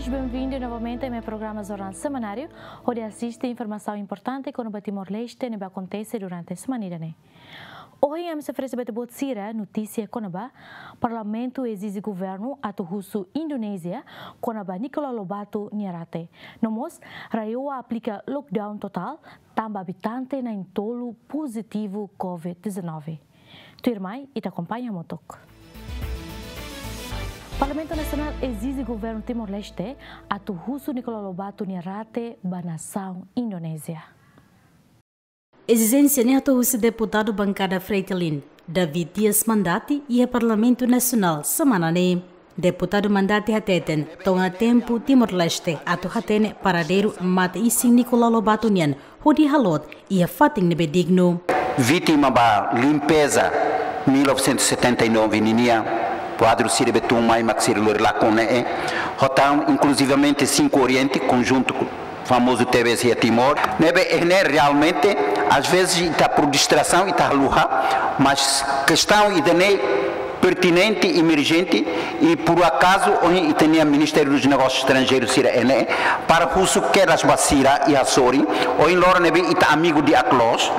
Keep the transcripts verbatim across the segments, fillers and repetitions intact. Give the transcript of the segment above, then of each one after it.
Bem-vindo novamente ao meu programa Jornal Semanáriu, hodi asiste informasaun importante kona-ba Timor-Leste ne'ebé akontese durante semana ida-ne'e. Ohin ami sei oferese ba ita-boot sira notísia kona-ba Parlamentu ezije governu atu husu Indonézia kona-ba Nicolau Lobato nia rate. No mós, RAEOA aplika lockdown totál tanba abitante na'in-tolu pozitivu covid dezanove. Tuirmai, ita akompaña hamutuk. Parlamentu Nasionál ezije governu Timor-Leste atu husu Nicolau Lobato nia rate ba nasaun Indonézia. Ezijénsia ne'e hato'o husi deputadu bankada Fretilin, David Dias Mandati, iha Parlamentu Nasionál semana ne'e. Deputadu Mandati hateten, to'o ona tempu Timor-Leste atu hatene paradeiru mate-isin Nicolau Lobato nian, hodi halot iha fatin ne'ebé dignu. Vítima ba limpeza mil novecentos e setenta e nove ninia, kuadru sira be tun mai mak sira lori lakon ne'e. Hotan, inclusivamente, Cinco Oriente, konjuntu ku famozu T V S iha Timor. Ne'ebé, eh, ne'e realmente, às vezes, ita por distração, ita haluha, mas kestaun ida-ne'e pertinente, emerjente, i por acaso, ohin ita-nia Ministério dos Negócios Estrangeiros sira iha ne'e, para husu kedas ba sira iha sorin, ohin loron ne'ebé ita amigu di'ak loos,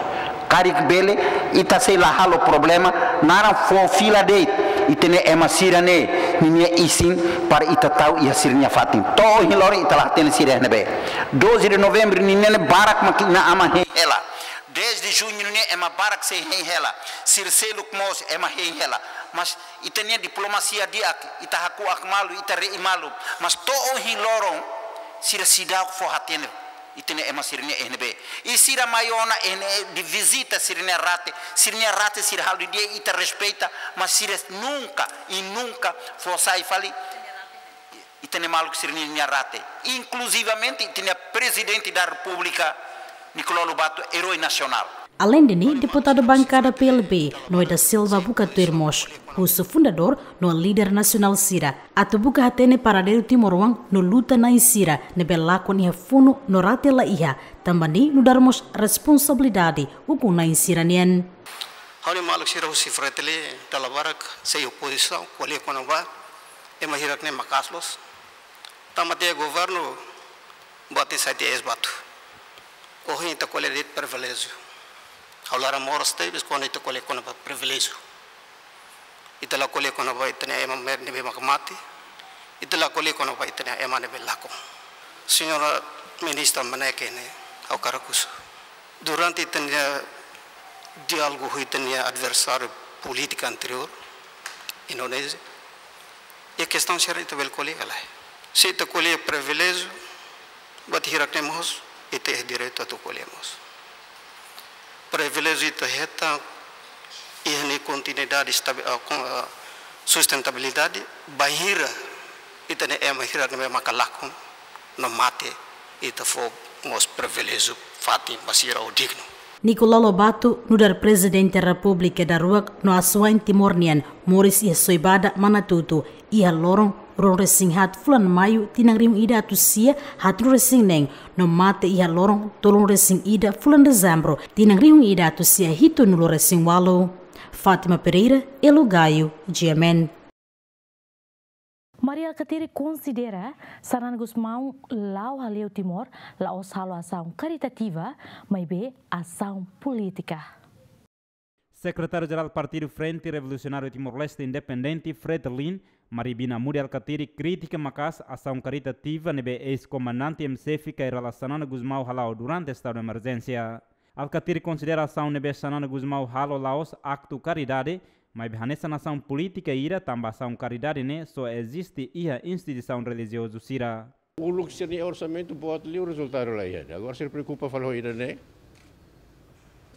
karik bele, ita sei la halo problema, naran fó fila de'it, ita-nia ema sira-ne'e, ninia isin, para ita tau iha sira-nia fatin. To'o ohin loron ita la hatene sira iha ne'ebé. Doze de novembro ninia ne'e barak mak inan-aman hein hela. Dez de junho ninia ema barak sei hein hela. Sira seluk mós ema hein hela. Mas ita-nia diplomasia di'ak, ita hakuak malu, ita re'i malu. Mas to'o ohin loron, sira seidauk fó hatene ita-nia ema sira-nia iha ne'ebé. I sira mai ona iha ne'e hodi vizita sira-nia rate, sira-nia rate sira halo di'ak, ita respeita, mas sira nunka, i nunka fó sai fali ita-nia maluk sira-nia rate. Inclusivamente, ita-nia Presidente da República, Nicolau Lobato, herói nacional. Aleinde ne'e, deputadu bankada P L B, Noé da Silva buka tuir mós husu fundadór no líder nasionál sira atu buka hatene paradeiru timoroan no luta-na'in sira ne'ebé lakon iha funu no rate la iha, tanba ne'e nu'udar mós responsabilidade ukun-na'in sira-nian. Ha'u-nia maluk sira husi Fretilin dala barak sei opozisaun, ko'alia kona-ba ema hirak-ne'e maka'as loos. Tanba tiha governu buat ne'e sai tiha eis-batu. Ohin ita ko'alia de'it priviléjiu. Ha'u laran moras tebes kuandu ita ko'alia kona-ba priviléjiu. Ita la ko'alia kona-ba ita-nia ema ne'ebé maka mate. Ita la ko'alia kona-ba ita-nia ema ne'ebé lakon. Señora Ministra, maneira ke ne'e, ha'u hakarak husu. Durante ita-nia diálogu ho ita-nia adversáriu polítiku anteriór, Indonézia, iha kestaun sira ita bele ko'alia ka lae? Se ita ko'alia priviléjiu, buat hirak-ne'e mós, ita iha direitu atu ko'alia mós. Priviléjiu ita hetan, iha nia kontinuidade, estabi-, ah, kon-, ah, sustentabilidade, bainhira ita-nia ema hirak-ne'e maka lakon no mate, ita fó mós priviléjiu fatin ba sira ho dignu. Nicolau Lobato nu'udar Prezidente Repúblika daruak no asuwa'in Timor nian moris iha Soibada, Manatuto, iha loron ruanulu-resin-haat fulan Maiu tinan rihun ida atus sia haatnulu-resin-neen, no mate iha loron tolunulu-resin-ida fulan Dezembru tinan rihun ida atus sia hitunulu-resin-ualu. Fátima Pereira, Elo Gaio, G M N. Mari Alkatiri konsidera Xanana Gusmão la'o hale'u Timor la'ós halo asaun karitativa, maibé asaun polítika. Sekretáriu-Jerál Partidu Frente Revolusionáriu Timor-Leste Independente, Fretilin, Mari Bina Mudi Alkatiri, kritika maka'as asaun karitativa ne'ebé eis-komandante M C F Kay Rala Xanana Gusmão hala'o durante estadu emerjénsia. Alkatiri konsidera asaun ne'ebé Xanana Gusmão halo la'ós aktu karidade, maibé hanesan asaun polítika ida, tanba asaun karidade ne'e só eziste iha instituisaun relijiozu sira. Uluk sira-nia orsamentu boot liu, rezultadu la iha. Agora sira preokupa fali ho ida-ne'e.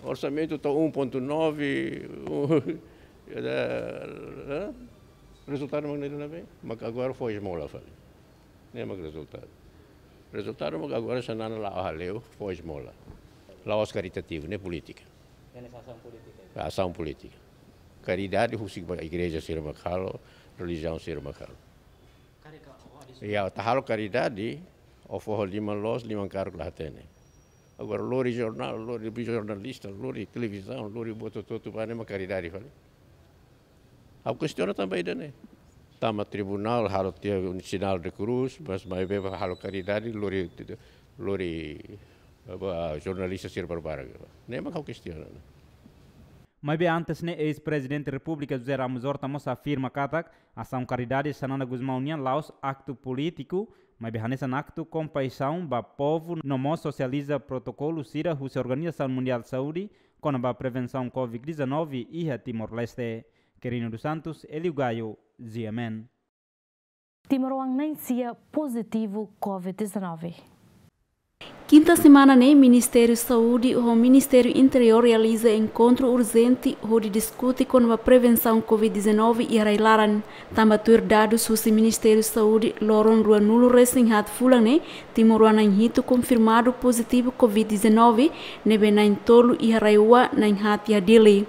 Orsamentu to'o um ponto nove, eh, rezultadu mak ne'e duni be, mak agora fó esmola fali. Ne'e mak rezultadu. Rezultadu mak agora Xanana la'o hale'u, fó esmola. La'ós karitativu, ne'e polítika. Ne'e asaun polítika. Asaun polítika. Karidade husik ba igreja sira mak halo, relijiaun sira mak halo. Karik ka, oh, ada. Ya, ita halo karidade, ó fó ho liman loos, liman karuk la hatene. Agora lori jornál, lori jornalista, lori televizaun, lori buat hotu-hotu ba ne'e mak karidade fali. Ha'u kestiona tanba ida-ne'e. tama tribunál, halo tiha sinál de krús, mas maibé ba halo karidade, lori, lori, ba jornalista sira barbarak. Ne'e mak ha'u kestiona. Maibé antes ne'e, eis-Prezidente Repúblika José Ramos Horta mós afirma katak asaun karidade Xanana Gusmão nian la'ós aktu polítiku, maibé hanesan aktu kompaixaun ba povu no mós sosializa protokolu sira husi Organizasaun Mundiál Saúde kona-ba prevensaun Covid dezanove iha Timor-Leste. Quirino dos Santos, Elio Gaio, G M N. Timoroan na'in-sia pozitivu Covid dezanove. Kinta semana ne'e, Ministériu Saúde ho Ministériu Interiór realiza enkontru urjente hodi diskute kona-ba prevensaun Covid dezanove iha rai-laran. Tanba tuir dadus husi Ministériu Saúde, loron ruanulu-resin-haat fulan ne'e, timoroan na'in-hitu konfirmadu pozitivu Covid dezanove, ne'ebé na'in-tolu iha RAEOA, na'in-haat iha Dili.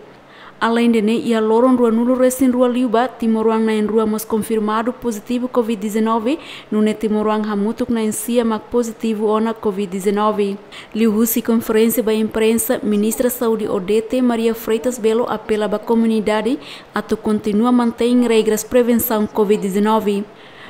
Aleinde ne'e, iha loron ruanulu-resin-rua liubá, timoroan na'in-rua mós konfirmadu pozitivu Covid dezanove, nune'e timoroan hamutuk na'in-sia mak pozitivu ona Covid dezanove. Liuhusi konferénsia ba imprensa, Ministra Saúde Odete Maria Freitas Belo apela ba komunidade atu kontinua mantein regras prevensaun Covid dezanove.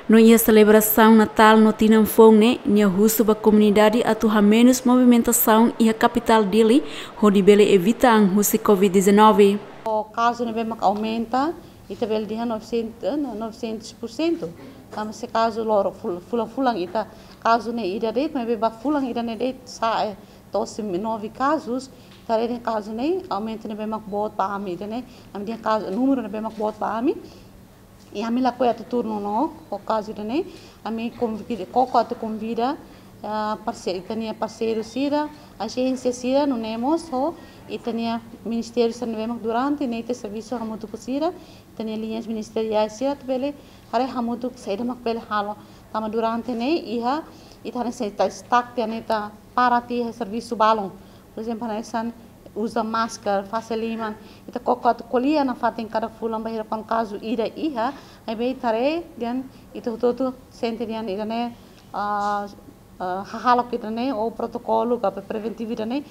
No iha selebrasaun Natál no tinan foun ne'e, nia husu ba komunidade atu hamenus movimentasaun iha kapitál Dili, hodi bele evita an husi Covid dezanove. O kazu ne'ebé mak aumenta, ita bele dehan novecentos, eh, novecentos por cento. Tanba se kazu loron ful-, fulan-fulan ita kazu ne'e ida de'it, maibé ba fulan ida-ne'e de'it sa'e, eh, to'o nove kazus, ita haree kazu ne'e, aumenta ne'ebé mak boot ba ami ida-ne'e, ami dehan kazu, númeru ne'ebé mak boot ba ami. I ami lakohi atu turnu no, ho kazu ida-ne'e, ami konvida, koko atu konvida, ah, parse-, ita-nia parseiru sira, ajénsia sira, nune'e mós ho ita-nia ministériu sira ne'ebé mak durante ne'e ita servisu hamutuk ho sira, ita-nia liñas ministeriais sira, atu bele haree hamutuk saida mak bele halo. Tanba durante ne'e iha, ita hanesan ita stuck tiha ne'e, ita para tiha servisu balun. Por ezemplu, hanesan uza masker, fase liman, ita koko atu ko'alia nafatin kada fulan bainhira kuandu kazu ida iha, maibé ita haree dehan ita hotu-hotu sente dehan ida-ne'e, ah, ah, hahalok ida-ne'e, ou protokolu ka preventivu ida-ne'e,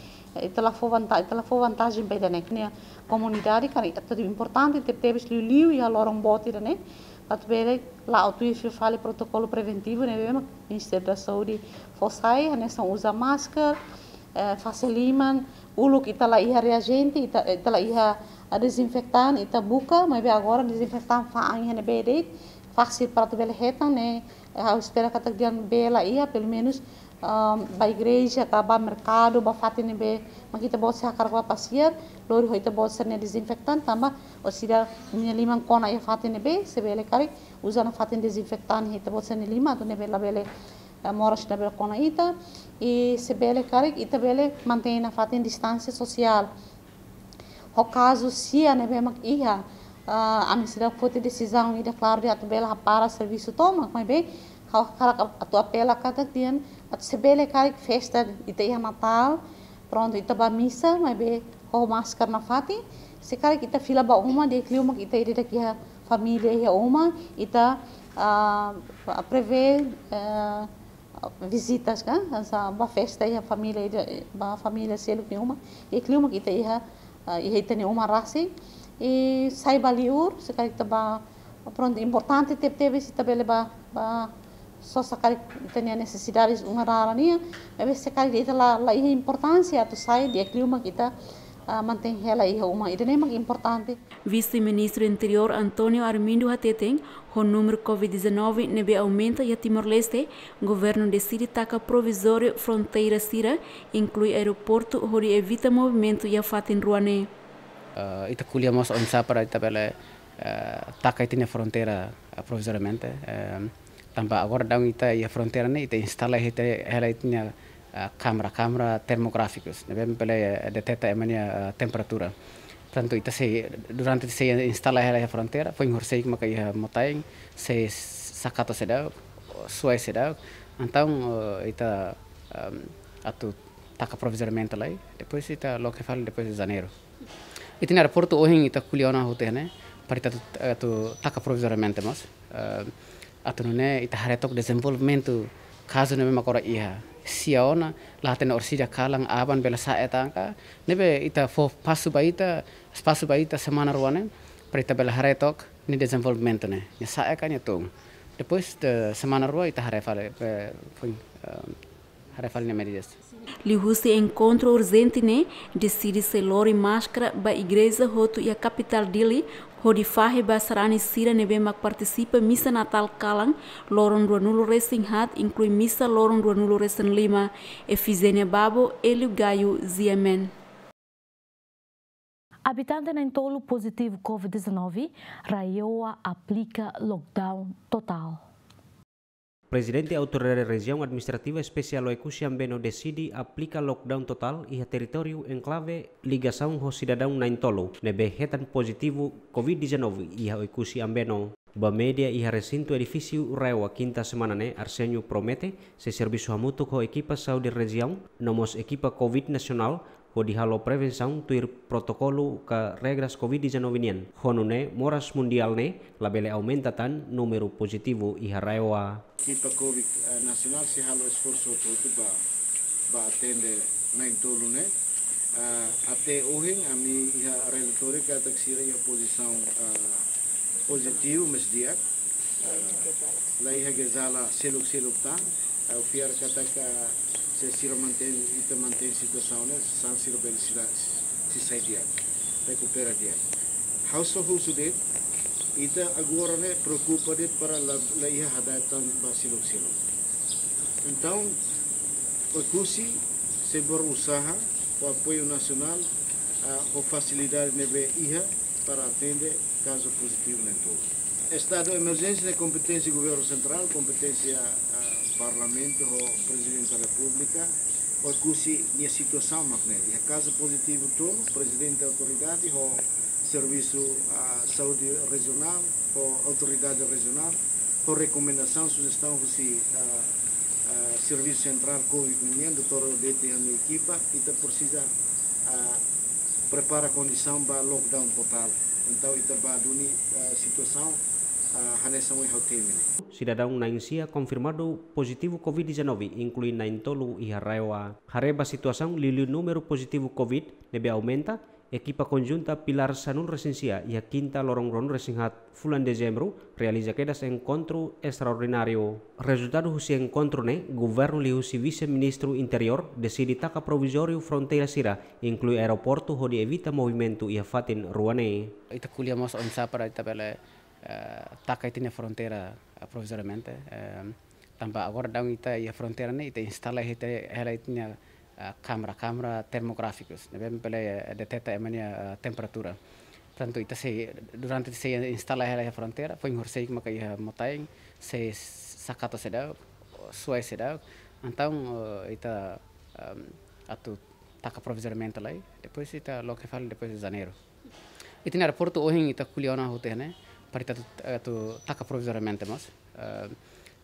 ita la fó vanta-, ita la fó vantajen ba ida-ne'e. Nia komunidade, karik atu importante tebetebes liuliu iha loron boot ida-ne'e, atu bele la'o tuir fila fali protokolu preventivu ne'ebé mak Ministériu da Saúde fó sai, hanesan uza masker, eh, fase liman, uluk ita la iha reajente, ita, ita la iha, ah, dezinfetan, ita buka, maibé agora dezinfetan fa'an iha ne'ebé de'it, fasil para atu bele hetan ne'e, eh, ha'u espera katak dehan bee la iha, pelumenus, ah, ba igreja, ka ba merkadu, ba fatin ne'ebé mak ita-boot sira hakarak ba pasiar, lori ho ita-boot sira-nia dezinfetan, tanba orsida nia liman kona iha fatin ne'ebé, se bele karik uza nafatin dezinfetan iha ita-boot sira-nia liman, atu ne'ebé labele, eh, moras labele kona ita, i se bele karik ita bele mantein nafatin distánsia sosiál. Ho kazu sia ne'ebé mak iha, ah, ami seidauk foti desizaun ida klaru dehan atu bele hapara servisu tomak, maibé ha'u hakarak atu apela katak dehan atu se bele karik festa ita iha Natál, prontu, ita ba misa, maibé ho masker nafatin. Se karik ita fila ba uma, di'ak liu mak ita ida-idak iha família iha uma, ita, ah, prevee, eh, vizitas, kan? Hanesan ba festa iha família ida, ba família seluk nia uma, di'ak liu mak ita iha, ah, iha ita-nia uma rasik. I sai ba liur, se karik ita ba, prontu, importante tebetebes ita bele ba, ba sosa karik ita-nia nesesidades uma rara nian, maibé se karik ita la, la iha importánsia atu sai, di'ak liu mak ita, ah, mantein hela iha uma, ida-ne'e mak importante. Vise-Ministru Interiór António Armindo hateten, ho númeru Covid dezanove ne'ebé aumenta iha Timor-Leste, governu deside taka provizóriu fronteira sira, inklui aeroportu, hodi evita movimentu iha fatin rua ne'e. Eh, ita ko'alia mós oinsá para ita bele, eh, taka ita-nia fronteira, eh, provizoriamente. Eh, tanba agora daudaun ita iha fronteira ne'e, ita instala, ita hela ita-nia, eh, kámara, kámara termográfikus, ne'ebé bele, eh, deteta ema nia, eh, temperatura. Portantu, ita sei, durante sei instala hela iha fronteira, foin horisehik maka iha Mota-Ain, sei sakata seidauk, suai seidauk. Entaun, eh, ita, ehm, atu taka provizoriamente lai, depois ita loke fali depois de Janeiru. Ita-nia aeroportu ohin ita ko'alia ona hotu iha ne'e, para ita atu, atu taka provizoriamente mós. Eh, atu nune'e ita haree took dezenvolvimentu kazu ne'ebé mak agora iha. Sia ona, la hatene orsida kalan aban bele sa'e tan ka, ne'ebé ita fó pasu ba ita, espasu ba ita semana rua ne'e, para ita bele haree took, Nia dezenvolvimentu ne'e, nia sa'e ka nia tun. Depois de semana rua ita haree fali, eh, foin, eh, haree fali nia medidas. Liuhusi enkontru urjente ne'e, deside sei lori máskara ba igreja hotu iha kapitál Dili, hodi fahe ba sarani sira ne'ebé mak partisipa misa Natál kalan, loron ruanulu resin haat, inklui misa loron ruanulu resin lima. Efizénia Babo, Hélio Gaio, G M N. Abitante na'in-tolu pozitivu covid dezanove, RAEOA aplika lockdown totál. Prezidente Autoridade Rejiaun Administrativa Espesiál Oekusi Ambeno deside aplika lockdown totál iha territóriu enklave ligasaun ho sidadaun na'in-tolu ne'ebé hetan pozitivu covid dezanove iha Oekusi Ambeno. Ba média iha resintu edifísiu RAEOA kinta semana ne'e, Arsénio promete sei servisu hamutuk ho ekipa saúde rejiaun, no mós ekipa covid nasionál, hodi halo prevensaun tuir protokolu ka regras covid dezanove nian. Ho nune'e moras mundiál ne'e labele aumenta tan númeru pozitivu iha RAEOA. Ekipa covid, eh, nasionál sei halo esforsu hotu-hotu ba, ba atende na'in-tolu ne'e. Eh, até ohin ami iha relatóriu katak sira iha pozisaun, eh, pozitivu, mas di'ak. Eh, la iha jejala seluk-seluk tan. Ha'u fiar katak se sira mantein, ita mantein situasaun ne'e, sasán sira bele sira sei sai di'ak, rekupera di'ak. Ha'u só husu de'it, ita agora ne'e preokupa de'it para la, la iha hada'et tan ba seluk-seluk. Entaun, Oekusi sei berusaha ho apoiu nasionál, ah, ho fasilidade ne'ebé iha para atende kazu pozitivu na'in-tolu. Estadu emerjénsia ne'e kompeténsia governu sentrál, kompeténsia, ah, parlamentu ho prezidente da repúblika. Oekusi nia situasaun mak ne'e. Iha kazu pozitivu tolu, prezidente autoridade ho servisu, ah, saúde rejionál, ho autoridade rejionál, ho rekomendasaun, sujestaun husi, ah, ah, servisu sentrál covid nian, doutór Odete ho nia ekipa, ita presiza, ah, prepara kondisaun ba lockdown totál. Entaun ita bá duni, eh, situasaun, eh, hanesan ohin ha'u temi ne'e. Sidadaun na'in-sia konfirmadu pozitivu covid dezanove, inklui na'in-tolu iha RAEOA. Haree ba situasaun liuliu númeru pozitivu covid ne'ebé aumenta, ekipa konjunta pilár sanulu resin sia iha kinta loron ruanulu resin haat fulan Dezembru, realiza kedas enkontru estraordináriu. Rezultadu husi enkontru ne'e, governu liuhusi Vise-Ministru Interiór deside taka provizóriu fronteira sira, inklui aeroportu, hodi evita movimentu iha fatin rua ne'e. Ita ko'alia mós oinsá para ita bele, eh, taka ita-nia fronteira, eh, provizoriamente, eh, tanba agora daudaun ita iha fronteira ne'e, ita instala ita hela ita-nia, ah, kámara, kámara termográfikus, ne'ebé bele, eh, deteta ema nia, ah, temperatura. Portantu, ita sei, durante sei instala hela iha fronteira, foin horisehik maka iha Mota-Ain, sei sakata seidauk, suai seidauk. Entaun, eh, ita, ehm, atu taka provizoriamente lai, depois ita loke fali depois de Janeiru. Ita-nia aeroportu ohin ita ko'alia ona hotu ne'e, para ita atu, atu taka provizoriamente mós. Eh,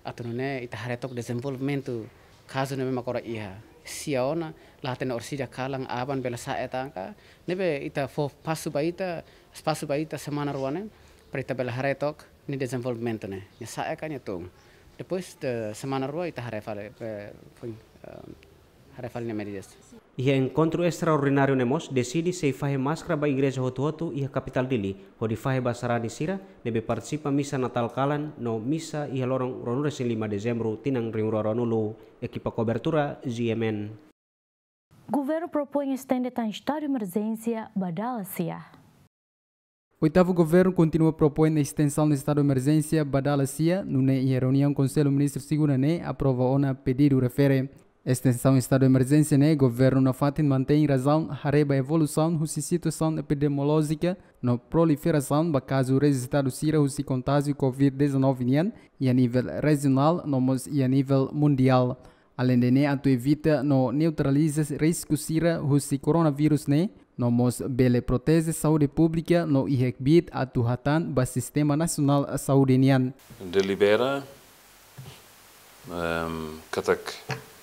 atu nune'e ita haree took dezenvolvimentu kazu ne'ebé mak agora iha. Sia ona, la hatene orsida kalan aban bele sa'e tan ka. Ne'ebé ita fó pasu ba ita, espasu ba ita semana rua ne'e, para ita bele haree took nia dezenvolvimentu ne'e. Nia sa'e ka nia tun. Depois de semana rua ita haree fali, eh, foin, eh, haree fali nia medidas. Iha enkontru estraordináriu ne'e mós deside sei fahe máskara ba igreja hotu-hotu iha kapitál Dili, hodi fahe ba sarani sira ne'ebé partisipa misa Natál kalan no misa iha loron ruanulu resin lima Dezembru tinan rihun rua ruanulu. Ekipa kobertura, G M N. Governu propoin estende tan estadu emerjénsia ba dala sia. Oitavu Governu kontinua propoin estensaun estadu emerjénsia ba dala sia, nune'e iha reuniaun Konsellu Ministru segunda ne'e aprova ona pedidu refere. Estensaun estadu emerjénsia ne'e governu nafatin mantein razaun haree ba evolusaun husi situasaun epidemiolójika no proliferasaun ba kazu rejistadu sira husi kontájiu covid dezanove nian, iha nivel rejionál no mós iha nivel mundiál. Aleinde ne'e, atu evita no neutraliza risku sira husi koronavírus ne'e, no mós bele proteje saúde públika no iha kbiit atu hatán ba sistema nasionál saúde nian. Delibera, ehm, katak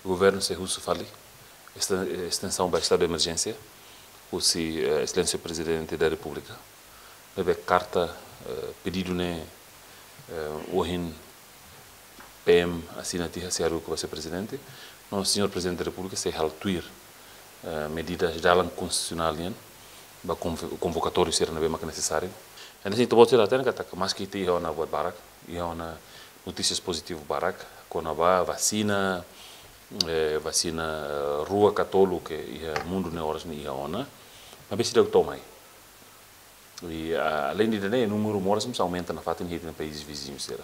governu sei husu fali este-, estensaun ba estadu de emerjénsia, husi, eh, Exelénsia Prezidente da Repúblika. Ne'ebé karta, eh, pedidu ne'e, eh, ohin P M asina tiha, sei haruka ba Señór Prezidente. No Señór Prezidente da Repúblika sei halo tuir, eh, medidas dalan konstitusionál nian ba konvo-, konvokatóriu sira ne'ebé maka nesesáriu. Ne'e ita-boot sira hatene katak maski ita iha ona buat barak, iha ona notísias pozitivu barak, kona-ba vasina, eh, vasina, eh, rua ka tolu ke iha mundu ne'e oras ne'e iha ona, maibé seidauk to'o mai. I, ah, além de ne'e, númeru moras mós aumenta nafatin iha ita-nia país viziñu sira.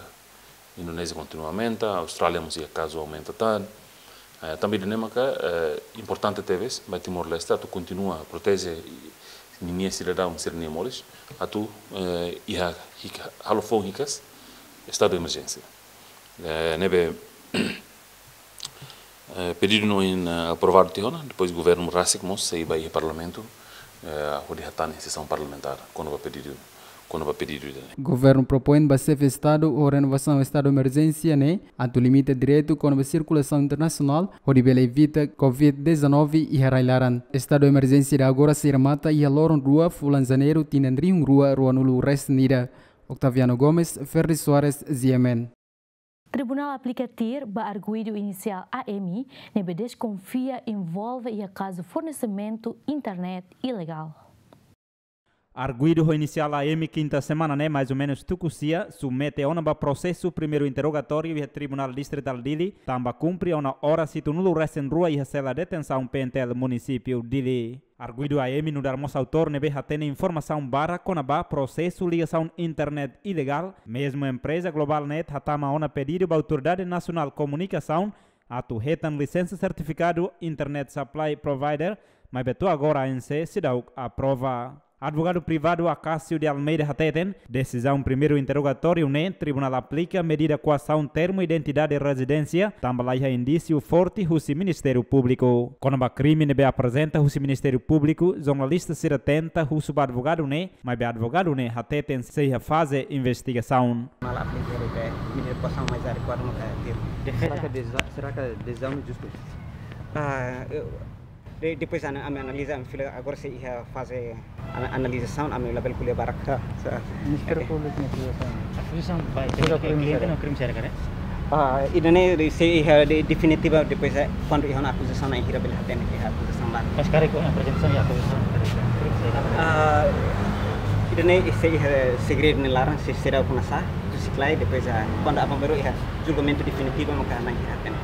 Indonézia kontinua aumenta, Austrália mós iha kazu aumenta tan. Eh, tanba ida-ne'e maka, eh, importante tebes ba Timor-Leste atu kontinua proteje ninia sidadaun sira-nia moris, atu, eh, iha hik-, halo foun hikas estadu de emerjénsia. Eh, ne'ebé, eh, pedidu ne'e ohin, eh, aprovadu tiha ona, depois governu rasik mós sei ba iha parlamentu, eh, hodi hatán iha sesaun parlamentár, kona-ba pedidu, kona-ba pedidu ida-ne'e. Governu propoin ba xefe estadu ho renovasaun estadu emerjénsia ne'e, atu limita direitu kona-ba sirkulasaun internasionál, hodi bele evita covid dezanove iha rai-laran. Estadu emerjénsia ida agora sei remata iha loron rua fulan Janeiru tinan rihun rua ruanulu resin ida. Octaviano Gomes, Ferdi Soares, G M N. Tribunál aplika TIR ba arguidu inisiál A M, ne'ebé deskonfia envolve iha kazu fornesimentu internet ilegál. Arguidu ho inisiál A M kinta semana ne'e, mais ou menus tuku sia, submete ona ba prosesu primeiru interrogatóriu iha Tribunál Distritál Dili, tanba kumpre ona oras hitunulu resin rua iha sela detensaun P N T L Munisípiu Dili. Arguidu A M nu'udar mós autór ne'ebé hatene informasaun barak kona-ba prosesu ligasaun internet ilegál, mezmu empreza Globalnet hatama ona pedidu ba Autoridade Nasionál Komunikasaun atu hetan lisensa sertifikadu Internet Supply Provider, maibé to'o agora A N C seidauk aprova. Advogadu privadu Acácio de Almeida hateten, desizaun primeiru interrogatóriu ne'e, tribunál aplika medida koasaun termu identidade rezidénsia, tanba laiha indísiu forte husi Ministériu Públiku. Kona-ba krime ne'ebé aprezenta husi Ministériu Públiku, jornalista sira tenta husu ba advogadu ne'e, maibé advogadu ne'e hateten sei iha faze investigasaun. Malah aplika medida koasaun mais adequada no kaer. Defesa. Será que a desi-, será que a decisão é justa? Ah, eu, de-, depois ana-, ami analiza, ami fila agora sei iha faze ana-, analizasaun, ami labele ko'alia barak. Sa-, sa-, Ministériu Públiku nia akuzasaun. Akuzasaun ba, sudah kliente no krime sira karik? Ah, ida-ne'e sei iha de-, definitiva depois, eh, kuandu iha ona akuzasaun na'in hira bele hatene iha akuzasaun barak. Mas karik ho aprezentasaun iha akuzasaun karik, krime sira karik? Ah, ida-ne'e sei iha segredu nia laran, sei, seidauk kona sa, tu siklai, depois, ah, kuandu aban-bainrua iha julgamentu definitivu maka na'in hira hatene.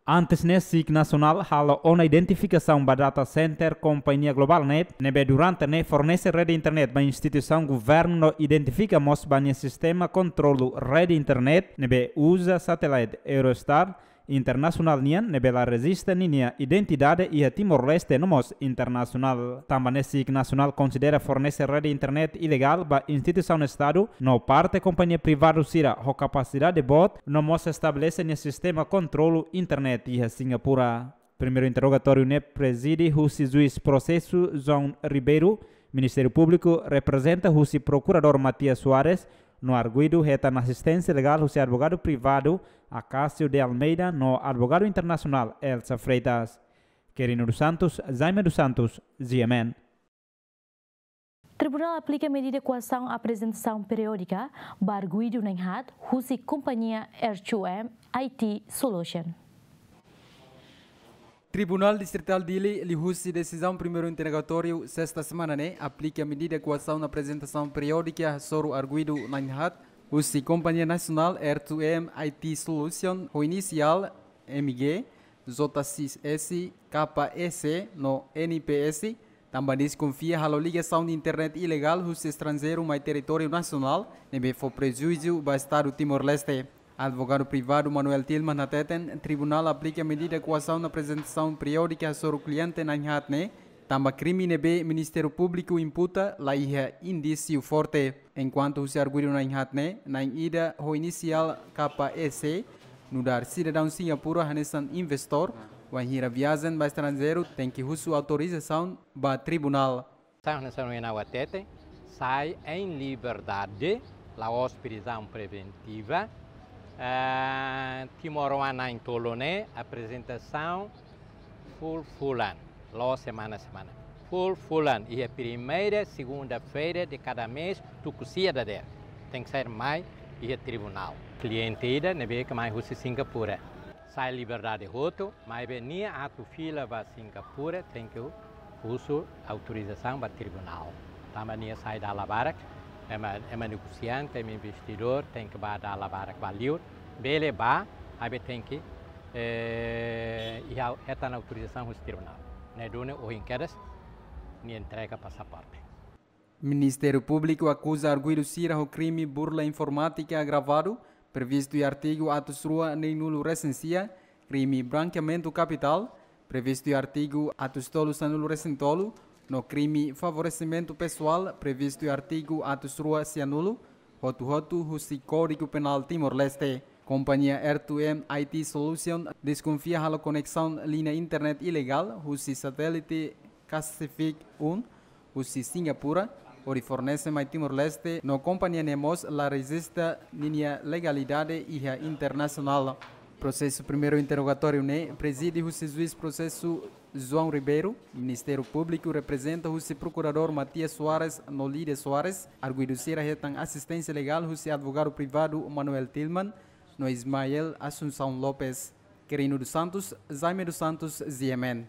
Antes ne'e, SIC Nasionál halo ona identifikasaun ba data center kompañia Globalnet, ne'ebé durante ne'e fornese rede internet ba instituisaun governu no identifika mós ba nia sistema kontrolu rede internet, ne'ebé uza satélite Eurostar, internasionál nian, ne'ebé la rejista ninia identidade iha Timor-Leste no mós internasionál. Tanba ne'e SIC Nasionál konsidera fornese rede internet ilegál ba instituisaun estadu no parte kompañia privadu sira ho kapasidade boot, no mós estabelese nia sistema kontrolu internet iha Singapura. Primeiru interrogatóriu ne'e prezide husi juís prosesu João Ribeiro, Ministériu Públiku reprezenta husi Prokuradór Matias Soares, no arguidu hetan asisténsia legál husi advogadu privadu Acácio de Almeida no advogadu internasionál Elsa Freitas. Quirino dos Santos, Jaime dos Santos, G M N. Tribunál aplika medida koasaun aprezentasaun periódika ba arguidu na'in haat husi kompañia R two M I T Solution. Tribunál Distritál Dili liuhusi desizaun primeiru interrogatóriu sesta semana ne'e aplika medida koasaun aprezentasaun periódika hasoru arguidu na'in haat husi kompañia nasionál R two M I T Solution ho inisiál M G, J C S, K E C no N P S, tanba deskonfia halo ligasaun internet ilegál husi estranjeiru mai territóriu nasionál, ne'ebé fó prejuízu ba Estadu Timor-Leste. Advogadu privadu Manuel Tilman hateten, tribunál aplika medida koasaun aprezentasaun periódika hasoru kliente na'in haat ne'e, tanba krime ne'ebé Ministériu Públiku imputa laiha indísiu forte. Enkuantu husi arguidu na'in haat ne'e, na'in ida ho inisiál K E C, nu'udar sidadaun Singapura hanesan investór, wainhira viajen ba estranjeiru tenke husu autorizasaun ba tribunál. Sai hanesan ohin ha'u hatete, sai em liberdade, la'ós prizaun preventiva. Eh, timoroan na'in-tolu ne'e, aprezentasaun fulan-fulan, la'ós semana-semana. Fulan-fulan, iha primeira segunda-feira de cada mês, tuku sia dadeer. Tenke sai mai iha tribunál. Kliente ida ne'ebé ke mai husi Singapura. Sai liberdade hotu, maibé nia atu fila ba Singapura, tenke husu autorizasaun ba tribunál. Tanba nia sai dala barak, Ema, ema negosiante, ema investidór, tenke bá dala barak ba liur, bele bá, maibé tenke, eh, iha hetan autorizasaun husi tribunál. Ne'e duni ohin kedas, nia entrega pasaporte. Ministériu Públiku akuza arguidu sira ho krime burla informátika agravadu, previstu iha artigu atus rua neenulu resin sia, krime brankeamentu kapitál, previstu iha artigu atus tolu sanulu resin tolu, no krime favoresimentu pesoál, previstu iha artigu atus rua sianulu, hotu-hotu husi Kódigu Penál Timor-Leste. Kompañia R two M I T Solution deskonfia halo koneksaun liña internet ilegál husi satélite Cassific um husi Singapura, hodi fornese mai Timor-Leste, no kompañia ne'e mós la rejista ninia legalidade iha internasionál. Prosesu primeiru interrogatóriu ne'e prezide husi juís prosesu João Ribeiro, Ministériu Públiku reprezenta husi Prokuradór Matias Soares no Lídia Soares, arguidu sira hetan asisténsia legál husi advogadu privadu Manuel Tilman no Ismael Assunção Lopes. Quirino dos Santos, Jaime dos Santos, G M N.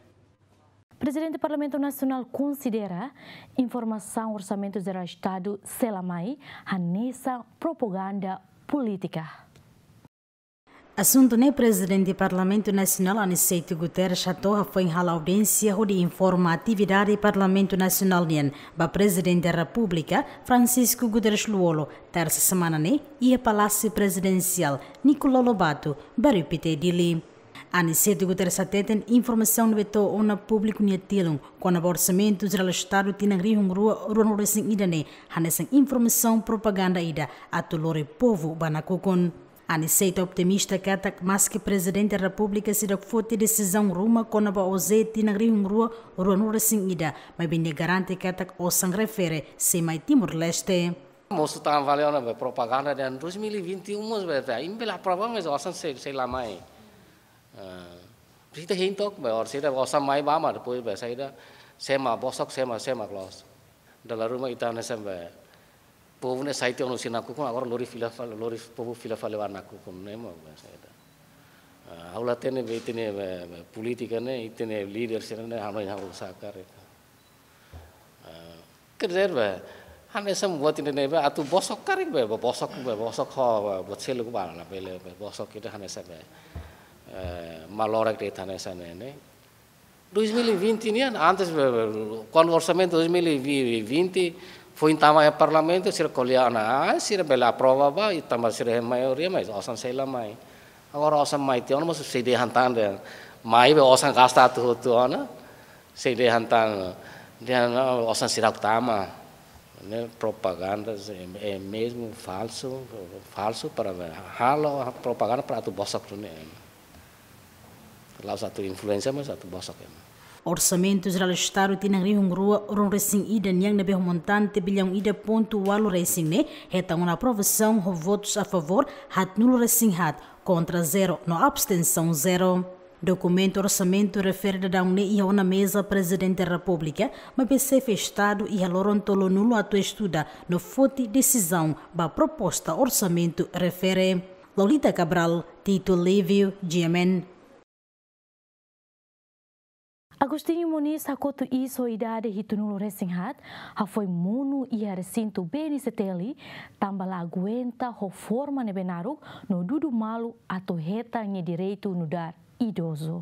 Prezidente Parlamentu Nasionál konsidera informasaun Orsamentu Jerál Estadu sei la mai hanesan propaganda polítika. Asuntu ne'e Prezidente Parlamentu Nasionál Aniceto Guterres hato'o hafoin halo audiénsia hodi informa atividade Parlamentu Nasionál nian ba Prezidente Repúblika Francisco Guterres Lú-Olo, tersa semana ne'e, iha Palásiu Prezidensiál Nicolau Lobato, Bairru Pité, Dili. Aniceto Guterres hateten informasaun ne'ebé to'o ona públiku nia tilun kona-ba Orsamentu Jerál Estadu tinan rihun rua ruanulu resin ida ne'e hanesan informasaun propaganda ida atu lori povu ba nakukun. Aniceto optimista katak maski Prezidente Repúblika seidauk foti desizaun ruma kona-ba OJE tinan rihun rua ruanulu resin ida, maibé nia garante katak osan refere sei mai Timor-Leste. Mosu tan vale ona be propaganda dehan dois mil e vinte e um mós be ta, imi bele aprova mas osan sei, sei la mai. Ah, ita hein tok be or sei osan mai ba ma depois be saida, sema bosok, sema, sema close. Dala ruma ita hanesan be povu ne'e sai tiha ona husi nakukun, agora lori fila fali, lori povu fila fali ba nakukun ne'e mós be saida. Ah, ha'u la hatene be ita-nia be, be polítika ne'e, ita-nia líder sira ne'e hanoin ha'u saka re. Ah, quer dizer, be, hanesan buat ida ne'ebé atu bosok karik be, be bosok, be bosok ho, be, buat seluk ba, labele, be bosok ida hanesan be, eh, malorek de'it hanesan ne'e, ne'e. Dois mil e vinte nian, antes, be, be, kuandu orsamentu dois mil e vinte foin tama iha Parlamentu, sira ko'alia ona, ah, sira bele aprova ba, i tanba sira iha maioria, mas osan sei la mai. Agora osan mai tiha ona, mas sei dehan tan dehan, mai be osan gasta atu hotu ona. Sei dehan tan, dehan, ah, osan seidauk tama. Ne'e propaganda, é, é mesmo falsu, falsu para halo propaganda para atu bosok duni. La'ós atu influénsia, mas atu bosok ema. Orsamentu Jerál Estadu tinan rihun rua ruanulu resin ida nian ne'ebé ho montante billaun ida pontu ualu resin ne'e hetan ona aprovasaun ho votus a favór haatnulu resin haat, kontra zero no abstensaun zero. Dokumentu orsamentu refere daudaun ne'e iha ona meza Prezidente Repúblika, maibé Xefe Estadu iha loron tolunulu atu estuda no foti desizaun ba proposta orsamentu refere. Lolita Cabral, Tito Livio, G M N. Agostinho Moniz hakotu iis ho idade hitunulu resin haat, hafoin monu iha resintu B N C T L, tanba la aguenta ho forma ne'ebé naruk no dudu malu atu hetan nia direitu nu'udar idozu.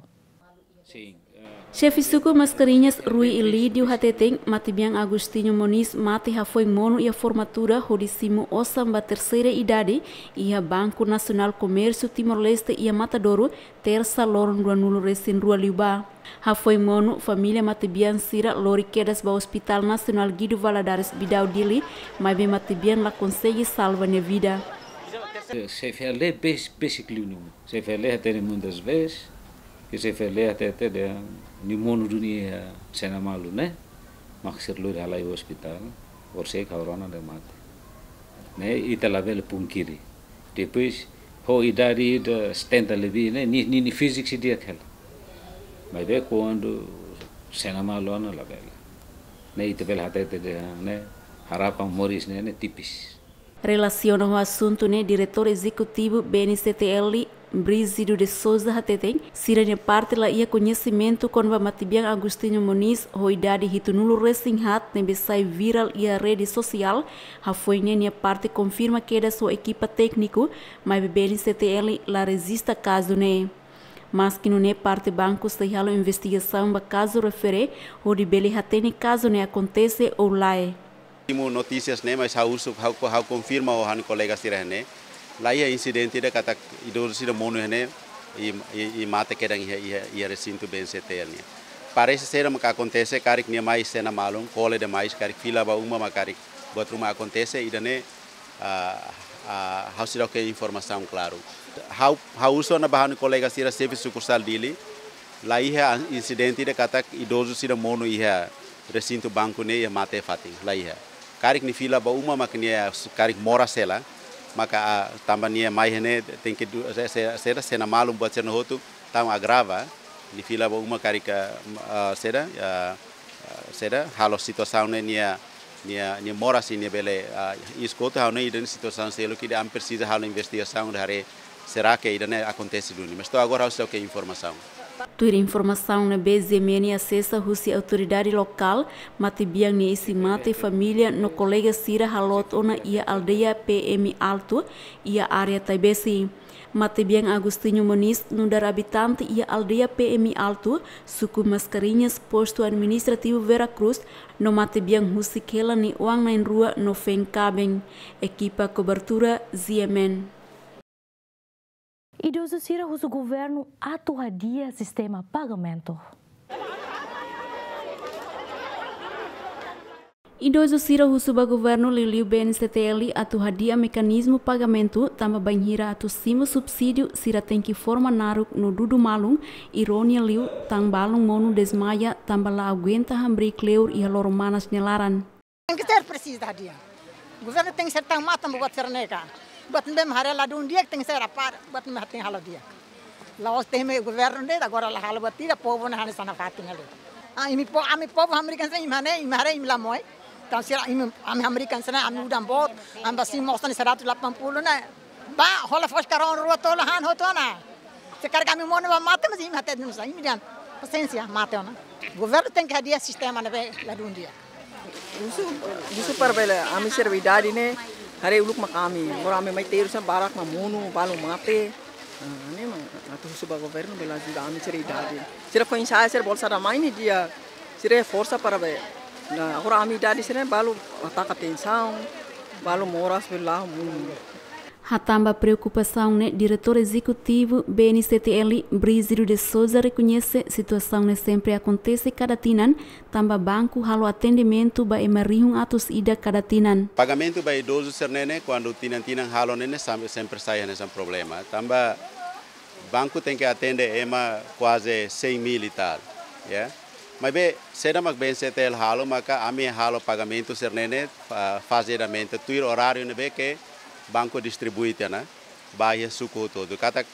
Sin, eh, Xefe Suku Mascarenhas, Rui Ilídio hateten, matebian Agostinho Moniz mate hafoin monu iha formatura hodi simu osan ba terseira idade iha Banku Nasionál Komérsiu Timor-Leste iha Matadouro, tersa loron ruanulu resin rua liubá. Hafoin monu, família matebian sira lori kedas ba Hospital Nasionál Guido Valadares Bidau Dili, maibé matebian la konsege salva nia vida. Sei, sei fele bes-, besik liu nimu. Sei fele hatene muitas vezes, ke sei fele hatete dehan nia monu duni iha Sena Malu ne'e, mak sira lori halai hospital, orsida kaurona dehan mate. Ne'e ita labele pungkiri. Depois, ho idade ida setenta lebih ne'e, nia, nia, nia fíziku sei di'ak hela. Maibé kuandu Sena Malu ona labele. Ne'e ita bele hatete dehan ne'e, harapan moris ne'e, ne'e tipis. Relasiona ho asuntu ne'e, Diretór Ezekutivu B N C T L, Brígido de Sousa hateten, sira-nia parte la iha koñesimentu kona-ba matebian Agostinho Moniz, ho idade hitunulu resin haat ne'ebé sai virál iha rede sosiál, hafoin ne'e nia parte konfirma kedas ho ekipa tékniku, maibé B N C T L la rejista kazu ne'e. Maski nune'e parte banku sei halo investigasaun ba kazu refere, hodi bele hatene kazu ne'e akontese ou lae. Últimu notísias ne'e, mas ha'u husu, ha'u, ha'u konfirma ho ha'u-nia kolega sira ne'e. La iha insidente ida katak idozu sira monu ne'e, i, i, i mate kedan iha, iha, iha resintu B N C T L nian. Parese saida maka akontese, karik nia mai sena malu, kole demais, karik fila ba uma mak karik buat ruma akontese, ida-ne'e, ah, ah, ha'u seidauk iha informasaun klaru. Ha'u, ha'u husu ona ba ha'u-nia kolega sira xefe sukursál Dili, la iha insidente ida katak idozu sira monu iha resintu banku ne'e iha mate fatin, la iha. Karik nia fila ba uma mak nia su-, karik moras hela, maka, ah, tanba nia mai ne'e tenke du-, se-, se-, saida, sena malu buat sira-ne'e hotu, tau agrava, nia fila ba uma karik, ah, saida, ah, ah, saida, halo situasaun ne'e nia, nia, nia moras ne'e bele, ah, iis kotu, ha'u hanoin ida-ne'e situasaun seluk ida ami presiza halo investigasaun hodi haree será que ida-ne'e akontese duni. Mas to'o agora ha'u seidauk iha informasaun. Tuir informasaun ne'ebé G M N asesa husi autoridade lokál, matebian nia isin-mate, família no kolega sira haloot ona iha aldeia P M Alto, iha área Taibesi. Matebian Agostinho Moniz nu'udar abitante iha aldeia P M Alto, suku Mascarenhas, postu administrativu Vera Cruz, no matebian husik hela nia oan na'in-rua no feen kaben. Ekipa kobertura G M N. Idozu sira husu governu atu hadi'a sistema pagamentu. Idozu sira husu ba governu liuliu B N C T L atu hadi'a mekanizmu pagamentu, tanba bainhira atu simu subsídiu sira tenke forma naruk no dudu malu, irónia liu tan balun monu dezmaia tanba la aguenta hamriik kleur iha loro-manas nia laran. Tenke ser presiza hadi'a. Governu tenke ser tan matan buat sira-ne'e ka. Buat ne'ebé mak haree ladún di'ak tenke ser apá, buat ne'ebé mak tenke halo di'ak. La'ós temi governu de'it, agora la halo buat ida, povu ne'e hanesan nafatin halo. Ah, imi po-, ami povu hamriik hanesan imi haree, imi haree imi la moe. Entaun sira imi, ami hamriik hanesan ne'e, ami udan boot, ami ba simu osan seratus delapan puluh ne'e. Ba, hola fos karón rua tolu han hotu ona. Se karik ami monu ba mate, mas imi hatete nusá, imi dehan pasiénsia, mate ona. Governu tenke hadi'a sistema ne'ebé ladún di'ak. Husu, husu para bele, ami sira idade ne'e, haree uluk mak ami, agora ami mai terus barak mak monu, balu mate. Ah, ne'e mak, atu husu ba governu bele ajuda ami sira idade. Sira foin-sa'e sira bolsa da mãe ne'e di'ak, sira forsa para bele. Nah, agora ami idade sira balu ataka tensaun, balu moras bele la monu. Hatán ba preokupasaun ne'e, Diretór Ezekutivu B N C T L, Brígido de Sousa, rekoñese situasaun ne'e sempre akontese kada tinan, tanba banku halo atendimentu ba ema rihun atus ida kada tinan. Pagamentu ba idozu sira-ne'e ne'e, kuandu tinan-tinan halo ne'e ne'e, sam-, sempre sai hanesan problema. Tanba banku tenke atende ema kuaze cem mil e tal, ya. Maibé, saida mak B N C T L halo, maka ami halo pagamentu sira-ne'e ne'e, ah, fazedamente, tuir oráriu ne'ebé ke banku distribui tiha ona ba iha suku hotu-hotu. Katak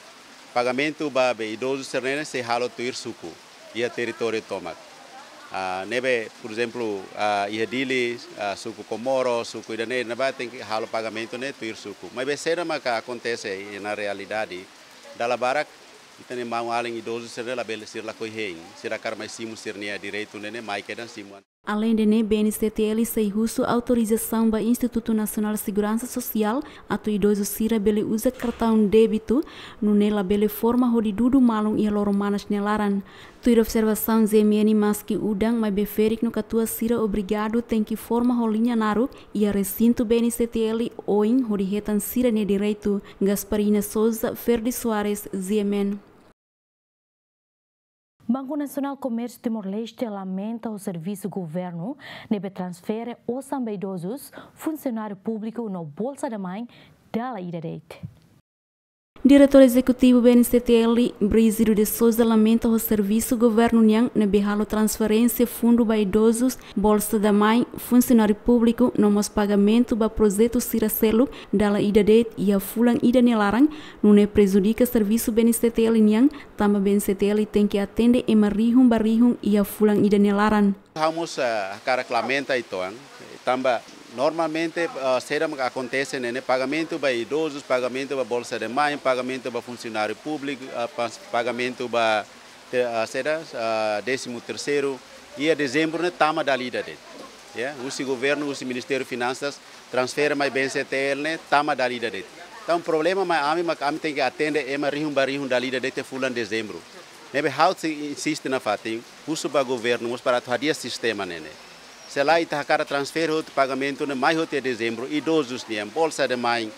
pagamentu ba be idozu sira-ne'e ne'e sei halo tuir suku, iha territóriu tomak. Ah, ne'ebé, por ezemplu, ah, iha Dili, ah, suku Komoro, suku ida-ne'e, ne'ebá tenke halo pagamentu ne'e tuir suku. Maibé saida maka akontese iha realidade, dala barak ita-nia maun-alin idozu sira-ne'e labele, sira lakohi hein, sira hakarak mai simu sira-nia direitu ne'e ne'e, mai kedan simu. Aleinde ne'e, B N C T L sei husu autorizasaun ba Institutu Nasionál Seguransa Sosiál atu idozu sira bele uza kartaun débitu, nune'e labele forma hodi dudu malu iha loro-manas nia laran. Tuir observasaun G M N, maski udan, maibé ferik no katuas sira obrigadu tenke forma ho liña naruk iha resintu B N C T L oin hodi hetan sira-nia direitu. Gasparina Sousa, Ferdi Soares, G M N. Banku Nasionál Komérsiu Timor-Leste lamenta ho servisu governu ne'ebé transfere osan ba idozus, funsionáriu públiku no Bolsa da Mãe dala ida de'it. Diretór Ezekutivu B N C T L, Brígido de Sousa, lamenta ho servisu governu nian ne'ebé halo transferénsia fundu ba idozus, Bolsa da Mãe, funsionáriu públiku, no mós pagamentu ba projetu sira seluk dala ida de'it iha fulan ida nia laran, nune'e prejudika servisu B N C T L nian, tanba B N C T L tenke atende ema rihun ba rihun iha fulan ida nia laran. Ha'u mós, ah, hakarak lamenta uitoan, tanba Normalmente, ah, saida mak akontese ne'e, ne'e pagamentu ba idozus, pagamentu ba bolsa de mãe, pagamentu ba funsionáriu públiku, ah, pas-, pagamentu ba te-, ah, saida, ah, décimo terceiro, iha dezembru ne'e tama dala ida de'it. Ya, husi governu, husi Ministériu Finansas, transfere mai B N C T L ne'e tama dala ida de'it. Entaun, problema mai ami, mak ami tenke atende ema rihun ba rihun dala ida de'it fulan dezembru. Ne'ebé ha'u sei insiste nafatin, husu ba governu mós para atu hadi'a sistema ne'e ne'e. Se lae ita hakarak transfere hotu pagamentu ne'e mai hotu iha dezembru, idozus nian, bolsa de mãe,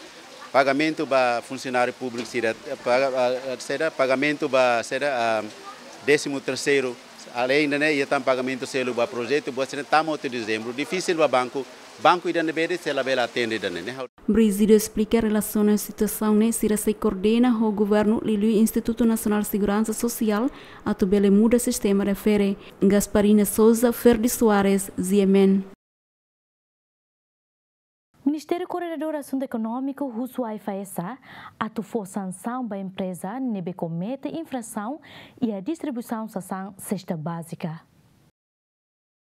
pagamentu ba funsionáriu públiku sira, paga-, ah, ah, saida, pagamentu ba saida, ah, décimo terceiro, além de ne'e, iha tan pagamentu seluk ba projetu, buat sira ne'e tama hotu dezembru, difisil ba banku, banku ida ne'ebé de'it sei labele atende ida ne'e ne'e. Brígido esplika relasiona situasaun ne'e, sira sei koordena ho governu liuliu Institutu Nasionál Seguransa Sosiál atu bele muda sistema refere. Gasparina Souza, Ferdi Soares, G M N. Ministériu Koordenadór Asuntu Ekonómiku husu AIFAESA atu fó sansaun ba empreza ne'ebé komete infrasaun iha distribuisaun sasán sesta bázika.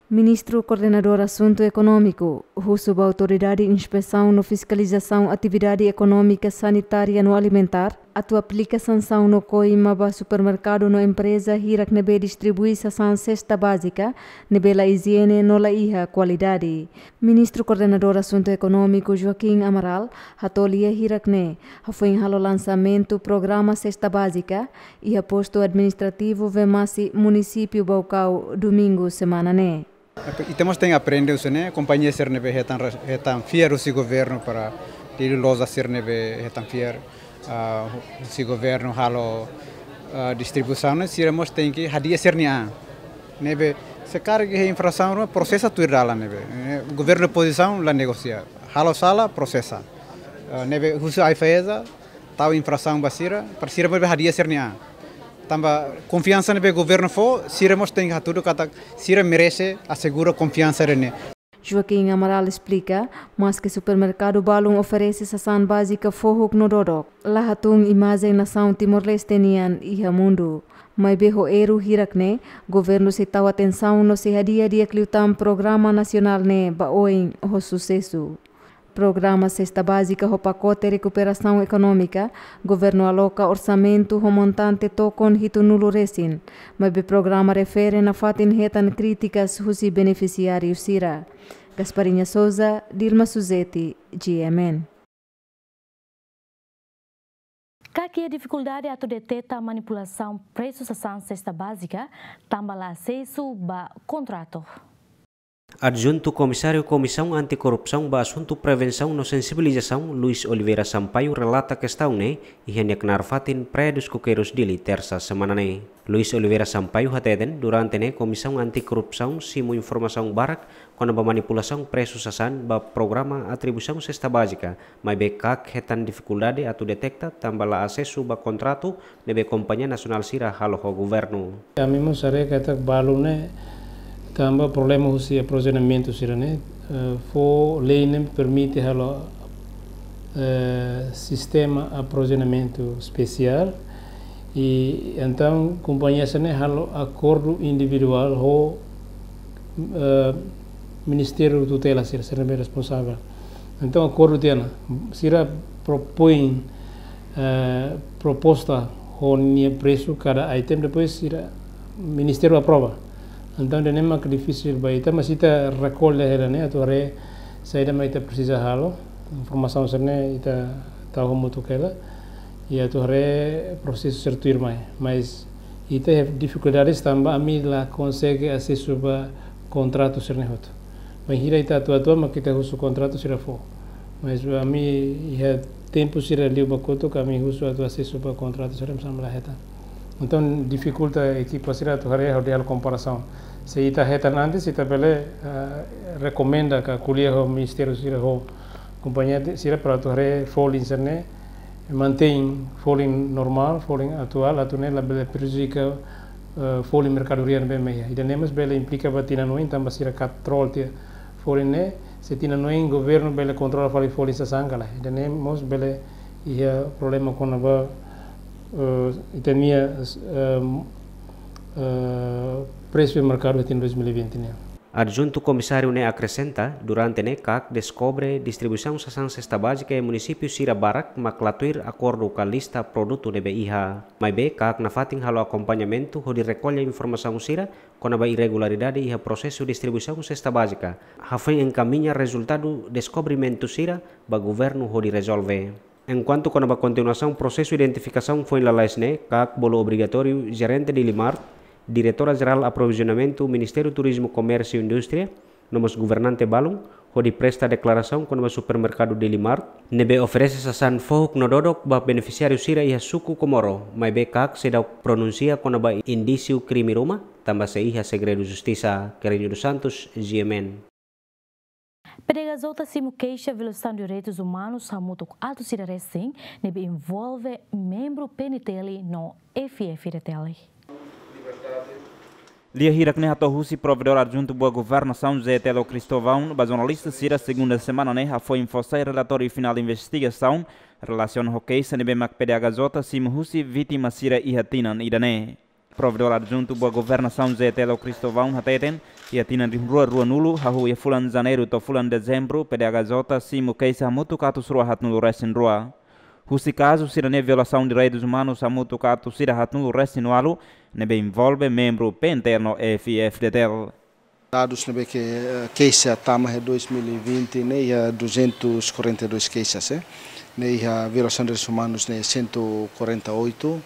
Ministru Koordenadór Asuntu Ekonómiku husu ba Autoridade Inspesaun no Fiskalizasaun Atividade Ekonómika, Sanitária no Alimentár atu aplika sansaun no koima ba supermerkadu no empreza hirak ne'ebé distribui sasán sesta bázika ne'ebé la ijiene no la iha kualidade. Ministru Koordenadór Asuntu Ekonómiku Joaquim Amaral hato'o lia hirak ne'e hafoin halo lansamentu programa sesta bázika iha postu administrativu Vemasi, munisípiu Baucau, domingu semana ne'e. Ita mós tenke aprende husi ne'e, kompañia sira ne'ebé hetan res-, hetan fiar husi governu para liuliu loja sira ne'ebé hetan fiar, ah, husi governu halo, ah, distribuisaun ne'e, sira mós tenke hadi'a sira-nia an. Ne'ebé se karik iha infrasaun ruma, prosesa tuir dalan ne'ebé. Eh, governu pozisaun la negosia. Halo sala, prosesa. Ah, ne'ebé husu AIFAESA, tau infrasaun ba sira, para sira mós hadi'a sira-nia an. Tanba konfiansa ne'ebé governu fó, sira mós tenke hatudu katak sira merese asegura konfiansa ida-ne'e. Joaquim Amaral esplika, maske supermerkadu balun oferese sasán bázika fohuk no dodok, la hatún imajen nasaun Timor-Leste nian iha mundu. Maibé ho erru hirak ne'e, governu sei tau atensaun no sei hadi'a di'ak liután programa nasionál ne'e ba oin ho susesu. Programa sesta bázika ho pakote rekuperasaun ekonómika, governu aloka orsamentu ho montante tokon hitunulu resin, maibé programa refere nafatin hetan krítikas husi benefisiáriu sira. Gasparinha Souza, Dilma Suzeti, G M N. CAC iha difikuldade atu deteta manipulasaun presu sasán sesta bázika, tanba la asesu ba kontratu. Adjuntu Komisáriu Komisaun Anti-Korrupsaun ba Asuntu Prevensaun no Sensibilizasaun, Luis Oliveira Sampaio, relata kestaun ne'e iha nia knaar fatin Praia dos Coqueiros, Dili, Tersa semana ne'e. Luis Oliveira Sampaio hateten, durante ne'e Komisaun Anti-Korrupsaun simu informasaun barak kona-ba manipulasaun presu sasán ba programa atribuisaun sesta bázika, maibé CAC hetan difikuldade atu deteta tanba la asesu ba kontratu ne'ebé kompañia nasionál sira halo ho governu. Ami mós haree katak balu ne'e tanba problema husi aprovizionamentu sira-ne'e, eh, fó lei ne'e permite halo, eh, sistema aprovizionamentu espesiál, i entaun kompañia sira-ne'e halo akordu individuál ho, eh, ministériu tutela sira, sira ne'ebé responsavel. Entaun akordu tiha ona, sira propoin, eh, proposta ho nia presu kada item, depois sira ministériu aprova. Entaun ida-ne'e mak difisil ba ita, mas ita rekolla hela ne'e atu haree saida mak ita presiza halo, informasaun sira-ne'e ita tau hamutuk hela, i atu haree prosesu sira tuirmai. Mas ita iha difikuldades tanba ami la konsege asesu ba kontratu sira-ne'e hotu. Bainhira ita atu atu mak ita husu kontratu sira fó. Mas ami iha tempu sira liu ba kotuk, ami husu atu asesu ba kontratu sira, mas ami la hetan. Entaun difikulta ekipa sira atu haree hodi halo komparasaun. Se ita hetan antes, ita bele, ah, rekomenda ka ko'alia ho ministériu sira, ho kompañia sira para atu haree folin sira-ne'e, mantein folin normál, folin atuál, atu ne'e labele prejudika, eh, folin merkadoria ne'ebé mak iha. Ida-ne'e mós bele implika ba tinan oin, tanba sira kontrola tiha folin ne'e, se tinan oin governu bele kontrola fali folin sasán ka lae. Ida-ne'e mós bele iha problema kona-ba, eh, ita-nia, eh, eh, presu merkadu iha tinan dois mil e vinte nian. Adjuntu Komisáriu ne'e akresenta, durante ne'e KAK deskobre distribuisaun sasán sesta bázika iha munisípiu sira barak mak la tuir akordu ka lista produtu ne'ebé iha. Maibé KAK nafatin halo akompañamentu hodi rekolla informasaun sira kona-ba irregularidade iha prosesu distribuisaun sesta bázika, hafoin enkamiña rezultadu deskobrimentu sira ba governu hodi rezolve. Enkuantu kona-ba kontinuasaun prosesu identifikasaun foin lalais ne'e, KAK bolu obrigatóriu Jerente Dili Mart, Diretora Jerál Aprovizionamentu Ministériu Turizmu, Komérsiu no Indústria, no mós governante balun, hodi presta deklarasaun kona-ba supermerkadu Dili Mart ne'ebé oferese sasán fohuk no dodok ba benefisiáriu sira iha suku Comoro, maibé KAK seidauk pronunsia kona-ba indísiu krime ruma, tanba sei iha segredu justisa. Kerenio dos Santos, G M N. PDHJ simu keixa violasaun direitus umanus hamutuk atus ida resin ne'ebé envolve membru P N T L no F I F D T L. Lia hirak ne'e hato'o husi Provedór Adjuntu Boa Governasaun, Zé Telo Cristóvão, ba jornalista sira segunda semana ne'e hafoin fó sai relatóriu finál investigasaun relasiona ho keixa ne'ebé mak PDHJ simu husi vítima sira iha tinan ida-ne'e. Provedór Adjuntu Boa Governasaun, Zé Telo Cristóvão, hateten, iha tinan rihun rua ruanulu, hahú iha fulan Janeiru to'o fulan Dezembru, PDHJ simu keixa hamutuk atus rua haatnulu resin rua. Husi kazu sira-ne'e violasaun direitus umanus hamutuk atus ida haatnulu resin ualu, ne'ebé envolve membru P N T L no F I F D T L. Dadus ne'ebé ke, eh, keixa tama iha dois mil e vinte ne'e iha duzentos e quarenta e dois keixas, eh. Ne'e iha violasaun direitus umanus ne'e cento e quarenta e oito,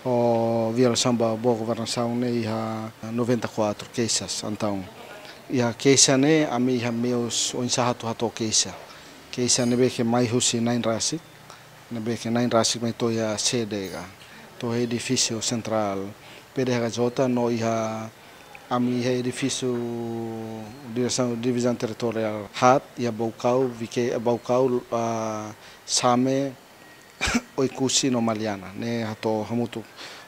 ho violasaun ba boa governasaun ne'e iha noventa e quatro keixas. Entaun, iha keixa ne'e ami iha meius oinsá atu hato'o keixa. Keixa ne'ebé ke mai husi na'in rasik, ne'ebé ke na'in rasik mai to'o iha sede ka, to'o edifísiu sentrál PDHJ no iha ami iha edifísiu diresaun divizaun territoriál haat, iha Baucau, Vique-, Baucau, ah, Same, Oekusi no Maliana, ne'e hato'o hamutuk.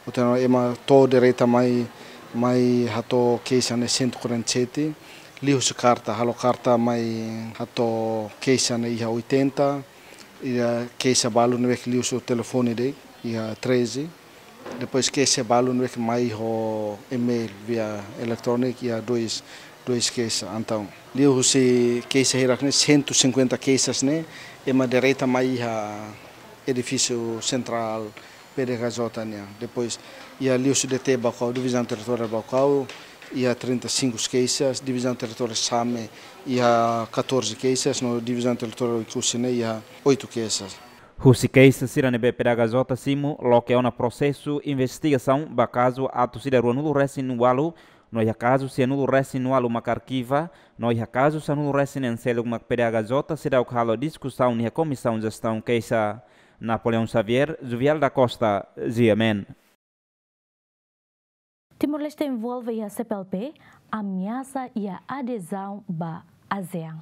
Portantu, ema to'o direta mai, mai hato'o keixa ne'e cento e quarenta e sete, liuhusi karta, halo karta mai hato'o keixa ne'e iha oitenta, iha keixa balu ne'ebé ke liuhusi telefone de'it, iha treze. Depois keixa balu ne'ebé ke mai ho email via electronic iha dois, dois keixa. Entaun, liuhusi keixa hirak ne'e, cento e cinquenta keixas ne'e, ema direta mai iha edifísiu sentrál PDHJ nian. Depois, iha liuhusi D T Baucau, divizaun territoriál Baucau, iha trinta e cinco keixas, divizaun territoriál Same, iha catorze keixas, no divizaun territoriál Oekusi ne'e, iha oito keixas. Husi keixa sira ne'ebé PDHJ simu, loke ona prosesu investigasaun ba kazu atus ida ruanulu resin ualu, no iha kazu sianulu resin ualu mak arkiva, no iha kazu sanulu resin neen seluk mak PDHJ seidauk halo diskusaun iha Komisaun Jestaun Keixa. Napoleão Xavier, Juvial da Costa, G M N. Timor-Leste envolve iha C P L P, ameasa iha adezaun ba ASEAN.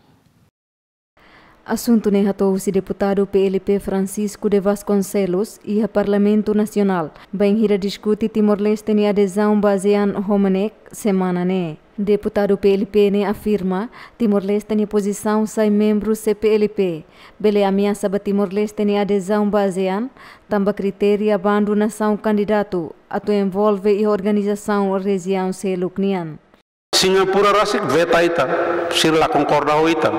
Asuntu ne'e hato'o husi deputadu P L P Francisco de Vasconcelos iha Parlamentu Nasionál, bainhira diskute Timor-Leste nia adezaun ba ASEAN ho MNEK semana ne'e. Deputadu P L P ne'e afirma, Timor-Leste nia pozisaun sai membru C P L P bele ameasa ba Timor-Leste nia adezaun ba ASEAN, tanba kritéria bandu nasaun kandidatu atu envolve iha organizasaun rejiaun seluk nian. Singapura rasik veta ita, sira la konkorda ho ita.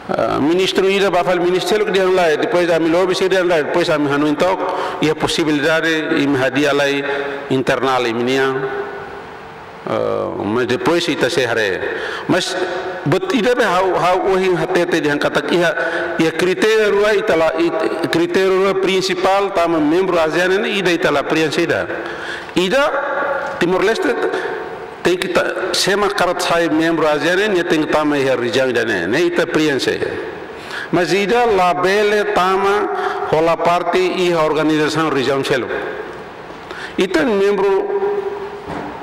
Eh, ministru ida ba fali ministériu ke dehan lae, depois ami lobi sira dehan lae, depois ami hanoin took, iha posibilidade imi hadi'a lai internál imi-nian. Eh, mas depois ita sei haree. Mas buat ida be ha'u, ha'u ohin hatete dehan katak iha, iha kritéria rua ita la, it-, kritéria rua prinsipál tama membru ASEAN ne'e ida ita la prienxe ida. Ida Timor-Leste tenke ta-, sé mak hakarak sai membru ASEAN ne'e, nia tenke tama iha rejiaun ida-ne'e, ne'e ita prienxe. Mas ida labele tama hola parte iha organizasaun rejiaun seluk. Ita membru,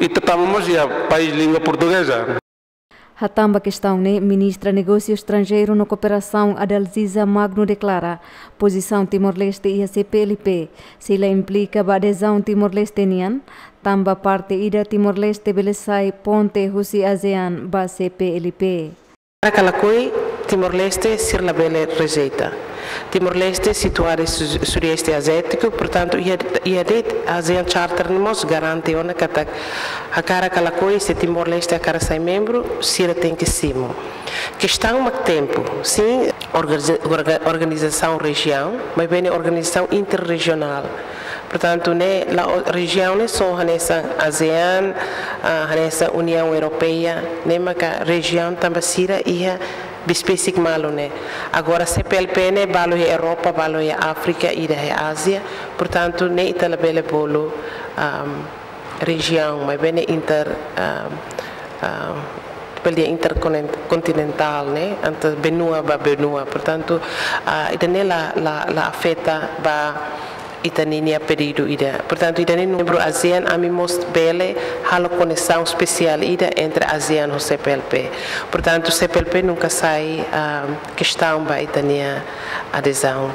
ita tama mós iha país língua portugeza. Hatán ba kestaun ne'e, Ministra Negósiu Estranjeiru no Kooperasaun Adalziza Magno deklara, pozisaun Timor-Leste iha C P L P sei la implika ba adezaun Timor-Leste nian, tanba parte ida Timor-Leste bele sai ponte husi ASEAN ba C P L P. Para ka lakohi, Timor-Leste sira labele rejeita. Timor-Leste situadu iha su-, Sudeste Aziátiku, portantu, iha, iha de'it ASEAN Charter ne'e mós garante ona katak hakarak ka lakohi, se Timor-Leste hakarak sai membru, sira tenke simu. Kestaun mak tempu, sin, organiza-, orga-, organizasaun rejiaun, maibé ne'e organizasaun interrejionál. Portantu, ne'e la'ós rejiaun ne'e só hanesan ASEAN, ah, hanesan Uniaun Europeia, ne'e maka rejiaun tanba sira iha besik-besik malu ne'e. Agora, C P L P ne'e balu iha Europa, balu iha Áfrika, ida iha Ázia. Portantu, ne'e ita labele bolu, ahm, rejiaun, maibé ne'e inter, ahm, ahm, bele dehan interkontinentál, ne'e, entre benua ba benua. Portantu, ah, ida-ne'e la, la, la afeta ba ita-nia pedidu ida. Portantu, ita-nia membru ASEAN, ami mós bele halo koneksaun espesiál ida entre ASEAN ho C P L P. Portantu, C P L P nunka sai, ah, kestaun ba ita-nia adezaun.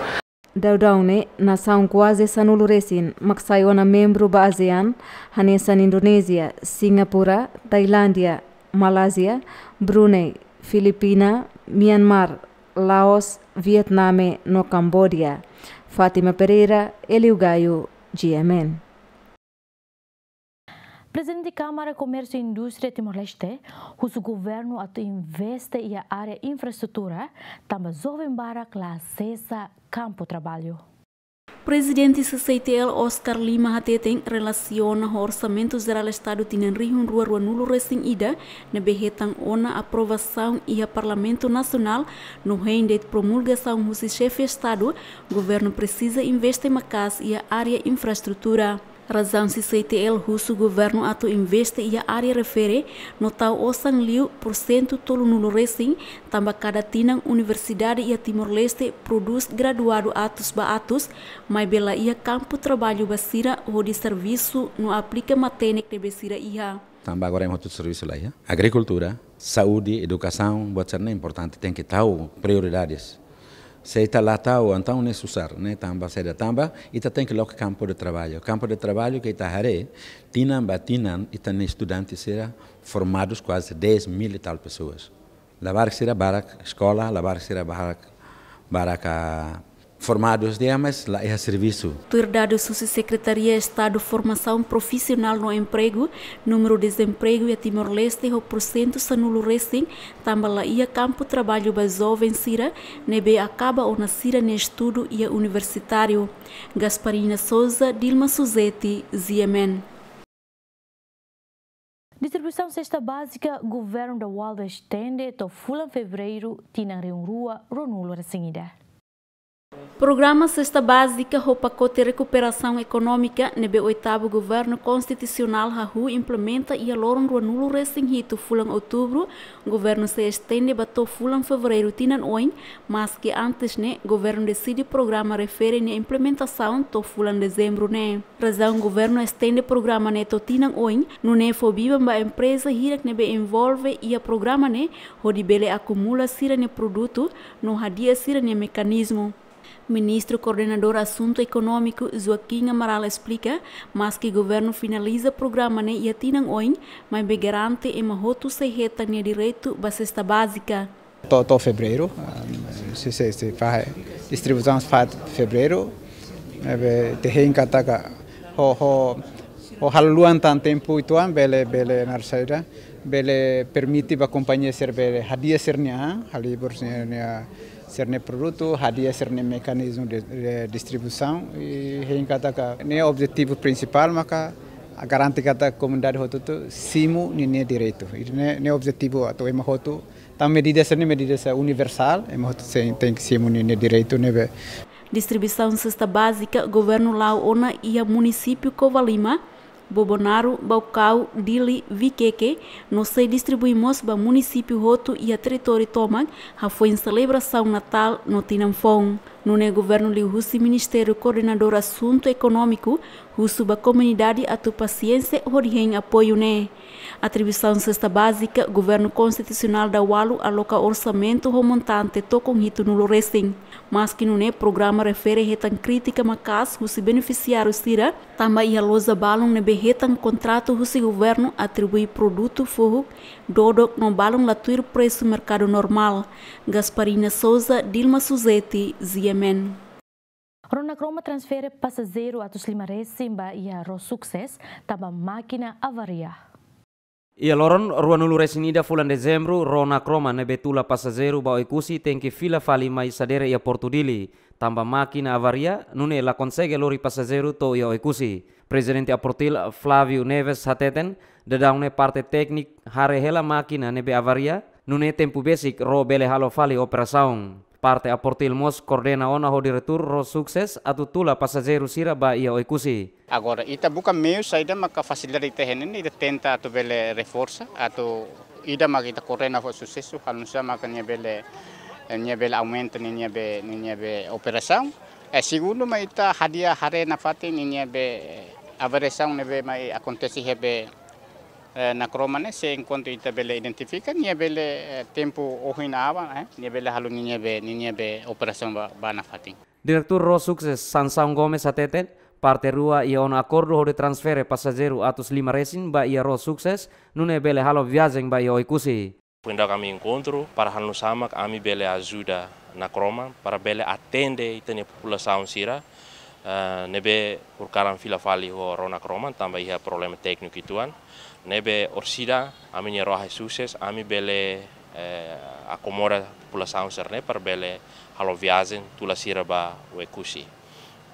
Daudaun ne'e, nasaun kuaze sanulu resin mak sai ona membru ba ASEAN, hanesan Indonézia, Singapura, Tailándia, Malázia, Brunei, Filipina, Myanmar, Laos, Vietname no Kambodia. Fátima Pereira, Hélio Gaio, G M N. Prezidente Kámara Komérsiu Indústria Timor-Leste husu governu atu investe iha área infraestrutura, tanba joven barak la asesa kampu traballu. Prezidente C C I T L Oscar Lima hateten relasiona ho Orsamentu Jerál Estadu tinan rihun rua ruanulu resin ida ne'ebé hetan ona aprovasaun iha Parlamentu Nasionál no hein de'it promulgasaun husi Xefe Estadu, governu presiza investe maka'as iha área infraestrutura. Razaun C C I T L husu governu atu investe iha área refere no tau osan liu pursentu tolunulu resin, tanba kada tinan universidade iha Timor-Leste prodús graduadu atus ba atus, maibé la iha kampu traballu ba sira hodi servisu no aplika matenek ne'ebé sira iha. Tanba agora ema hotu servisu la iha. Agrikultura, saúde, edukasaun, buat sira-ne'e importante, tenke tau prioridades. Se ita la tau, entaun ne'e susar, ne'e tanba saida? Tanba ita tenke loke kampu de traballu. Kampu de traballu ke ita haree, tinan ba tinan, ita-nia estudante sira formadus kuaze dez mil e tal pessoas. Labarik sira barak eskola, labarik sira barak, barak, ah, formadus de'it, mas la iha servisu. Tuir dadus husi Sekretaria Estadu Formasaun Profisionál no Empregu, númeru dezempregu iha Timor-Leste ho pursentu sanulu resin, tanba la iha kampu traballu ba joven sira ne'ebé akaba ona sira-nia estudu iha universitáriu. Gasparina Souza, Dilma Suzeti, G M N. Distribuisaun sesta bázika governu Dawalu estende to'o fulan Fevereiru tinan rihun rua ruanulu resin ida. Programa Sesta Bázika ho pakote rekuperasaun ekonómika ne'ebé oitavu governu konstitusionál hahú implementa iha loron ruanulu resin hitu fulan Outubru, governu sei estende ba to'o fulan Fevereiru tinan oin, maske antes ne'e governu deside programa refere nia implementasaun to'o fulan Dezembru ne'e. Razaun governu estende programa ne'e to'o tinan oin, nune'e fó biban ba empreza hirak ne'ebé envolve iha programa ne'e, hodi bele akumula sira-nia produtu no hadi'a sira-nia mekanizmu. Ministru Koordenadór Asuntu Ekonómiku, Joaquim Amaral, esplika, maske governu finaliza programa ne'e iha tinan oin, maibé garante ema hotu sei hetan nia direitu ba sesta bázika. To'o, to'o Fevereiru, ah, se, se, se fahe, distribuisaun fahe Fevereiru, ne'ebé ita hein katak ho, ho, ho halo luan tan tempu uitoan bele, bele naran saida, bele permite ba kompañia sira bele hadi'a sira-nia, halibur sira-nia, sira-nia produtu, hadi'a sira-nia mekanizmu de, de distribuisaun, i hein katak ne'e objetivu prinsipál maka garante katak komunidade hotu-hotu simu ninia direitu. I ne'e, ne'e objetivu atu ema hotu, tanba medida sira-ne'e medida sira universál, ema hotu sei tenke simu ninia direitu ne'ebé. Distribuisaun sesta bázika governu la'o ona iha munisípiu Covalima, Bobonaro, Baucau, Dili, Viqueque, no sei distribui mós ba munisípiu hotu iha territóriu tomak, hafoin selebrasaun Natál no Tinan Foun. Nune'e governu liuhusi Ministériu Koordenadór Asuntu Ekonómiku husu ba komunidade atu pasiénsia hodi hein apoiu ne'e. Atribuisaun sesta bázika, governu konstitusionál Dawalu aloka orsamentu ho montante tokon hitunulu resin. Maske nune'e programa refere hetan krítika maka'as husi benefisiáriu sira, tanba iha loja balun ne'ebé hetan kontratu husi governu atribui produtu fohuk dodok no balun la tuir presu merkadu normál. Gasparina Souza, Dilma Suzeti, G M N. Amen. Rona Kroma transfere pasajeiru atus lima resin ba iha Ró Sukses tanba mákina avaria. Iha loron ruanulu resin ida fulan Dezembru, Rona Kroma ne'ebé tula pasajeiru ba Oekusi tenke fila fali mai sadere iha Portu Dili, tanba mákina avaria, nune'e la konsege lori pasajeiru to'o iha Oekusi. Prezidente Aportil Flávio Neves hateten, daudaun ne'e parte tékniku haree hela mákina ne'ebé avaria, nune'e tempu besik Ró bele halo fali operasaun. Parte Aportil mós koordena ona ho diretór Ró Sukses atu tula pasajeiru sira ba iha Oekusi. Agora, ita buka meiu saida maka fasilidade ita iha ne'e, ita tenta atu bele reforsa, atu ida maka ita koordena ho susesu, halo nu'usá maka nia bele, nia bele aumenta ninia be, ninia be operasaun. Eh, segundu mak ita hadi'a haree nafatin ninia be, eh, avariasaun ne'ebé mai akontese iha be, eh, Nakroma ne'e, se enkuantu ita bele identifika, nia bele, eh, tempu ohin aban, eh, nia bele halo ninia be, ninia be operasaun ba, ba nafatin. Diretór Ró Sukses Sansão Gomes hateten, parte rua iha ona akordu hodi transfere pasajeiru atus lima resin ba iha Ró Sukses, nune'e bele halo viajen ba iha Oekusi. Foin daudauk ami enkontru para halo nu'usá mak ami bele ajuda Nakroma para bele atende ita-nia populasaun sira, eh, ne'ebé horikalan fila fali ho Ró Nakroma tanba iha problema tékniku uitoan. Ne'ebé orsida ami-nia Ró Sukses, ami bele, eh, akomoda populasaun sira-ne'e para bele halo viajen tula sira ba Oekusi.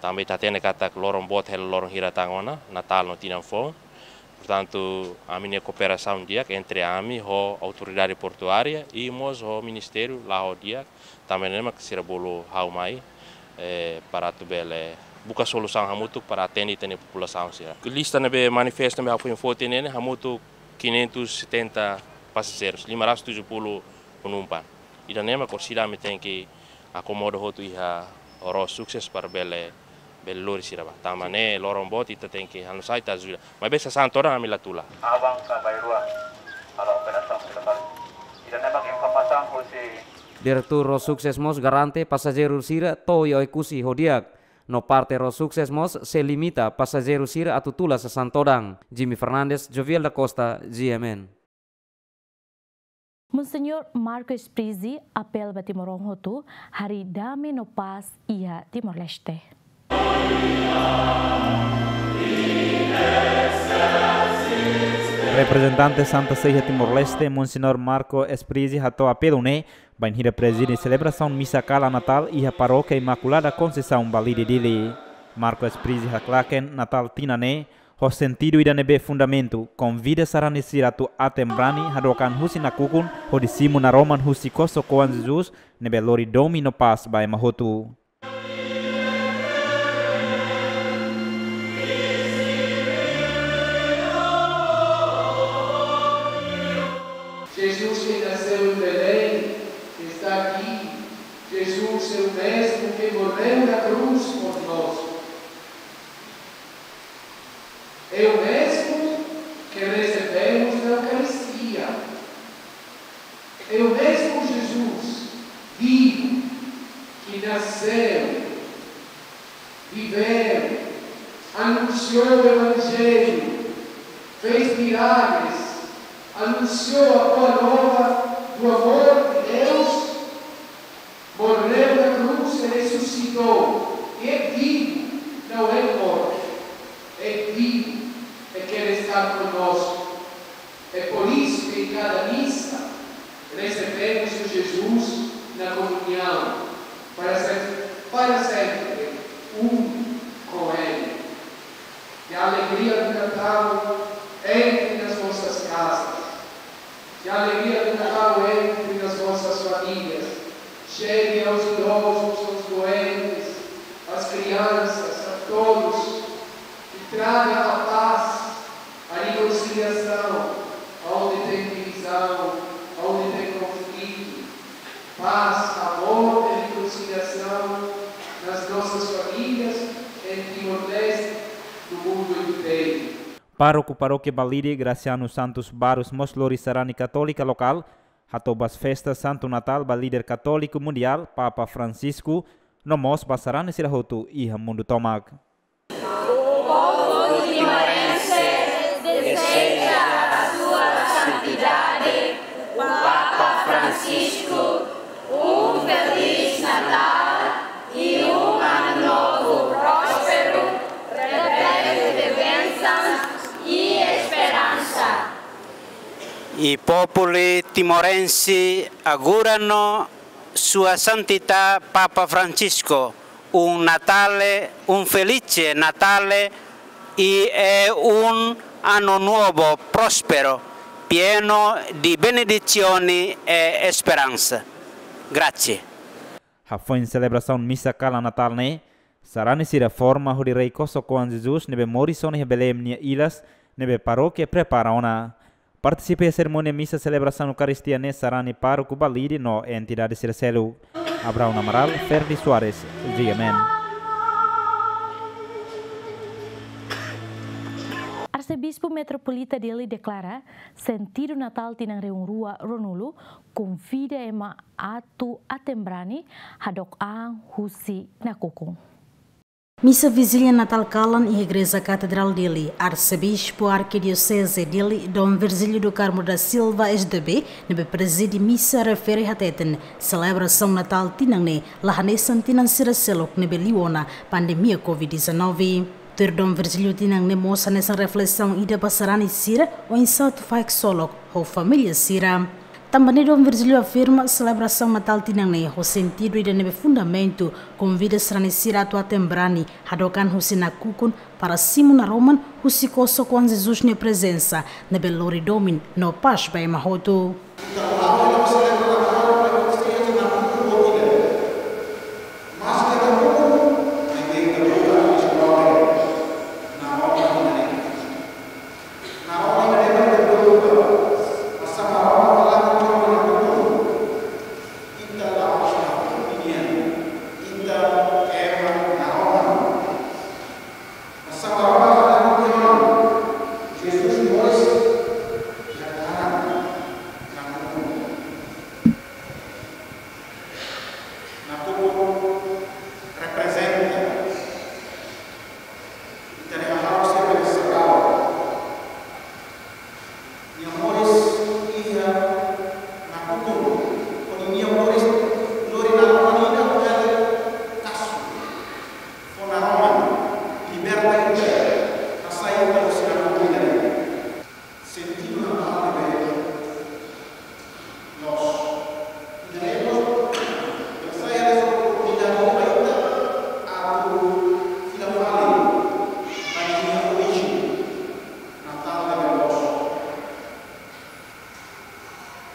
Tanba ita hatene katak loron boot hela loron hira tan ona, Natál no tinan foun. Portantu, ami-nia kooperasaun di'ak entre ami ho autoridade portuária i mós ho ministériu la'o di'ak, tanba ne'e mak sira bolu ha'u mai, eh, para atu bele buka solusaun hamutuk para atende ita-nia populasaun sira. Lista ne'ebé manifestu ne'ebé ha'u foin foti ne'e, hamutuk quinhentos e setenta passageiros, lima ratus tujuh puluh penumpang. Ida-ne'e mak orsida ami tenke akomoda hotu iha Ró Sukses para bele, bele lori sira ba. Tanba ne'e loron boot ita tenke halo nu'usá ita ajuda. Maibé sasán todan ami la tula. Aban ka bainrua, halo operasaun sira ba. Ida-ne'e mak informasaun husi. Diretór Ró Sukses mós garante pasajeiru sira to'o iha Oekusi ho di'ak. No parte Ró Sukses mós sei limita pasajeiru sira atu tula sasán todan. Jimmy Fernandes, Joviel da Costa, G M N. Monseñór Marco Esprizzi apela ba timoroan hotu harii dame no pás iha Timor-Leste. Reprezentante Santa Sé iha Timor-Leste, Monseñór Marco Esprizzi hato'o apelu ne'e bainhira prezide selebrasaun misa kala Natál iha Parókia Imakulada Konseisaun Balide Dili. Marco Esprizzi haklaken Natál tinan ne'e ho sentidu ida ne'ebé fundamentu, konvida sarani sira atu aten-brani hadook an husi nakukun hodi simu naroman husi kosok-oan Jesus ne'ebé lori dame no pás ba ema hotu. Jesus que nasceu em Belém está aqui. Jesus é o mesmo que morreu na cruz por nós. É o mesmo que recebemos na Eucaristia. É o mesmo Jesus vivo que nasceu, viveu, anunciou o Evangelho, fez milagres, anunciou a boa nova do amor de Deus, morreu na cruz e ressuscitou, e é vivo, não é morto, é vivo, e quer estar conosco. É por isso que em cada missa recebemos o Jesus na comunhão, para ser para sempre um com Ele. Que a alegria do Natal entre nas nossas casas. Que a alegria do Natal entre nas nossas famílias. Chegue aos idosos, aos doentes, às crianças, a todos. Que traga a paz, a reconciliação, aonde tem divisão, aonde tem conflito. Paz, amor e reconciliação nas nossas famílias, em Timor-Leste, no mundo inteiro. Pároku Parókia Balide, Graciano Santos Barros, mós lori sarani katólika lokál hato'o Boas Festas Santo Natal ba líder katóliku mundiál, Papa Francisco, no mós ba sarani sira hotu iha mundu tomak. O povo timorense deseja a Sua Santidade, o Papa Francisco, um Feliz Natal e I populi timorensi agora no Sua Santitá Papa Francisco, un Natale, un felice Natale e un ano novo próspero, pieno di benedizioni e speransa. Grazie. Hafoin selebrasaun misa kalan Natál ne'e, sarani sira forma hodi rei kosok-oan Jesus ne'ebé moris ona iha Belém nia ilas, ne'ebé parókia prepara ona. Partisipa iha serimónia misa selebrasaun Eukaristia ne'e sarani pároku Balide no entidade sira seluk. Abraão Amaral, Ferdi Soares, G M N. Arsebispu Metropolita Dili deklara, sentidu Natál tinan rihun rua ruanulu konvida ema atu aten-brani hadook an husi nakukun. Misa Vijília Natál kalan iha Igreja Katedrál Dili, Arsebispu Arkidioseze Dili, Dom Virgílio do Carmo da Silva, S D B, ne'ebé prezide misa refere hateten, selebrasaun Natál tinan ne'e la hanesan tinan sira seluk ne'ebé liu ona pandemia covid dezanove. Tuir Dom Virgílio, tinan ne'e mós hanesan reflesaun ida ba sarani sira oinsá atu fahe ksolok ho família sira. Tanba ne'e Dom Virgílio afirma selebrasaun Natál tinan ne'e ho sentidu ida ne'ebé fundamentu, konvida sarani sira atu aten-brani hadook an husi nakukun para simu naroman husi kosok-oan Jesus nia prezensa ne'ebé lori domin no pás ba ema hotu. Nakukun reprezenta ita-nia hahalok sira ne'ebé sagradu. Nia moris iha nakukun, hodi nia moris lori naroman ida, hodi kasu fó naroman, liberta ita, hasai ita husi nakukun ida-ne'e. Sentidu Natál ne'ebé loos. Ida-ne'e mós, ida-ne'e mós oportunidade ba ita atu fila fali ba nia orijen, Natál ne'ebé loos.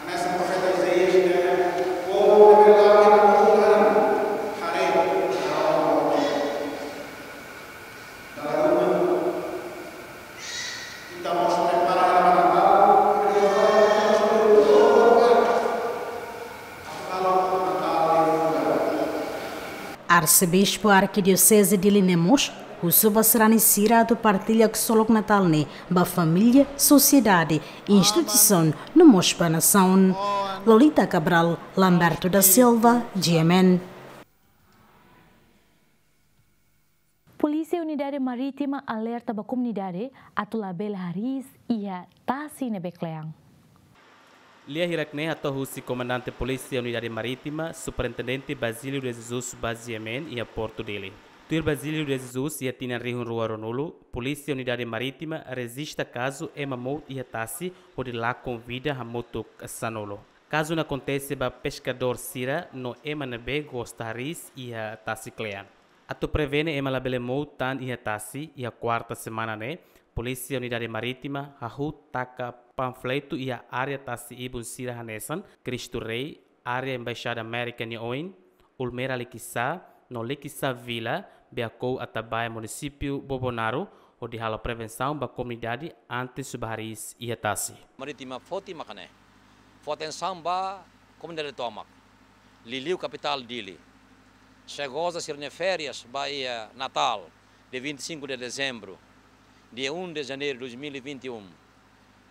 Hanesan profeta Isaías dehan, povu ne'ebé la'o iha nakukun laran, haree naroman. Dala ruma, ita mós prepara hela ba Natál, prepara, ita mós prepara atu halo Natál ne'e furak. Arsebispu Arkidioseze Dili ne'e mós husu ba sarani sira atu partilla ksolok Natál ne'e ba família, sosiedade, instituisaun no mós ba nasaun. Lolita Cabral, Lamberto da Silva, G M N. Polísia Unidade Marítima alerta ba komunidade atu labele hariis iha tasi ne'ebé kle'an. Lia hirak-ne'e hato'o husi Komandante Polísia Unidade Marítima, Superintendente Basílio de Jesus Bas G M N iha Portu Dili. Tuir Basílio de Jesus, iha tinan rihun rua ruanulu, Polísia Unidade Marítima rejista kazu ema mout iha tasi hodi lakon vida hamutuk sanulu. Kazu ne'e akontese ba peskadór sira no ema ne'ebé gosta hariis iha tasi kle'an. Atu prevene ema labele mout tan iha tasi, iha kuarta semana ne'e, Polísia Unidade Marítima hahú taka panfletu iha área tasi ibun sira hanesan Cristo Rei, área Embaixada Amérika nia oin, Ulmera Likisá, no Likisá Vila, Beakou Atabae, Munisípiu Bobonaro, hodi halo prevensaun ba komunidade antes ba hariis iha tasi. Marítima foti mak ne'e. Fó atensaun ba komunidade tomak. Liuliu kapitál Dili. Sira goza sira-nia férias ba iha Natál, dia vinte e cinco de dezembro, dia um de janeiro de dois mil e vinte e um.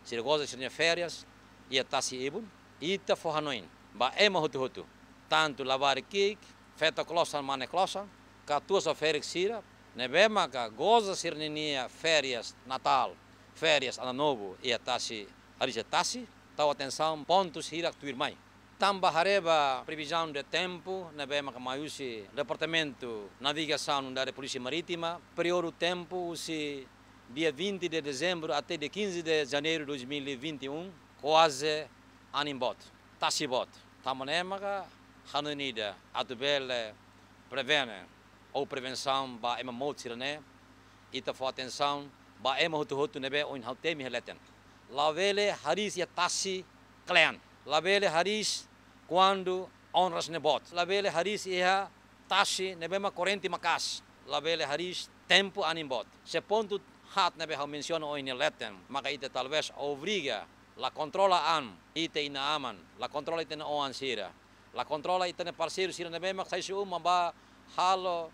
Sira goza sira-nia férias iha tasi ibun, ita fó hanoin ba ema hotu-hotu, tantu labarik ki'ik, feto klosan, mane klosan, katuas ho ferik sira ne'ebé maka goza sira-ninia férias Natál, férias Ano Novo iha tasi, hariis iha tasi, tau atensaun pontus hirak tuirmai. Tanba haree ba previzaun de tempu ne'ebé maka mai husi Departamentu Navigasaun Unidade Polísia Marítima, períodu tempu husi dia vinte de dezembro até dia quinze de janeiro de dois mil e vinte e um, Kuaze anin boot, tasi boot. Tanba ne'e maka hanoin ida atu bele prevene ou prevensaun ba ema mout sira-ne'e, ita fó atensaun ba ema hotu-hotu ne'ebé ohin ha'u temi iha leten. Labele hariis iha tasi kle'an. Labele hariis kuandu onras ne'e boot. Labele hariis iha tasi ne'ebé mak korrente maka'as. Labele hariis tempu anin boot. Se pontu haat ne'ebé ha'u mensiona ohin iha leten, maka ita talvés obriga la kontrola an ita-nia inan-aman, la kontrola ita-nia oan sira, la kontrola ita-nia parseiru sira ne'ebé mak sai husi uma bá halo,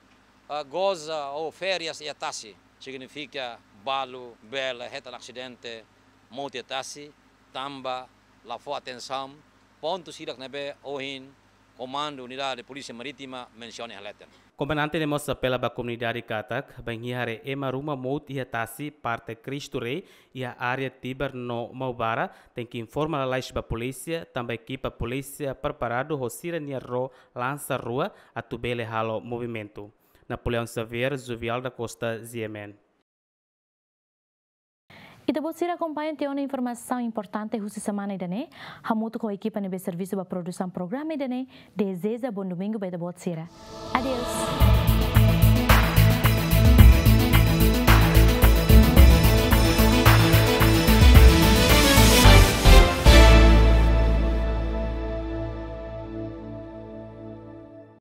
eh, goza ou férias iha tasi. Signifika balu bele hetan asidente, mout iha tasi, tanba la fó atensaun pontu sira ne'ebé ohin Komandu Unidade Polísia Marítima mensiona iha leten. Komandante ne'e mós apela ba komunidade katak, bainhira haree ema ruma mout iha tasi parte Cristo Rei, iha área Tibar no Maubara, tenke informa lalais ba polísia, tanba ekipa polísia preparadu ho sira-nia ró lansa rua atu bele halo movimentu. Napoleão Xavier, Juvial da Costa, G M N. Ita-boot sira akompaña tiha ona informasaun importante husi semana ida-ne'e, hamutuk ho ekipa ne'ebé servisu ba produsaun programa ida-ne'e, dezeja bom domingo ba ita-boot sira. Adeus.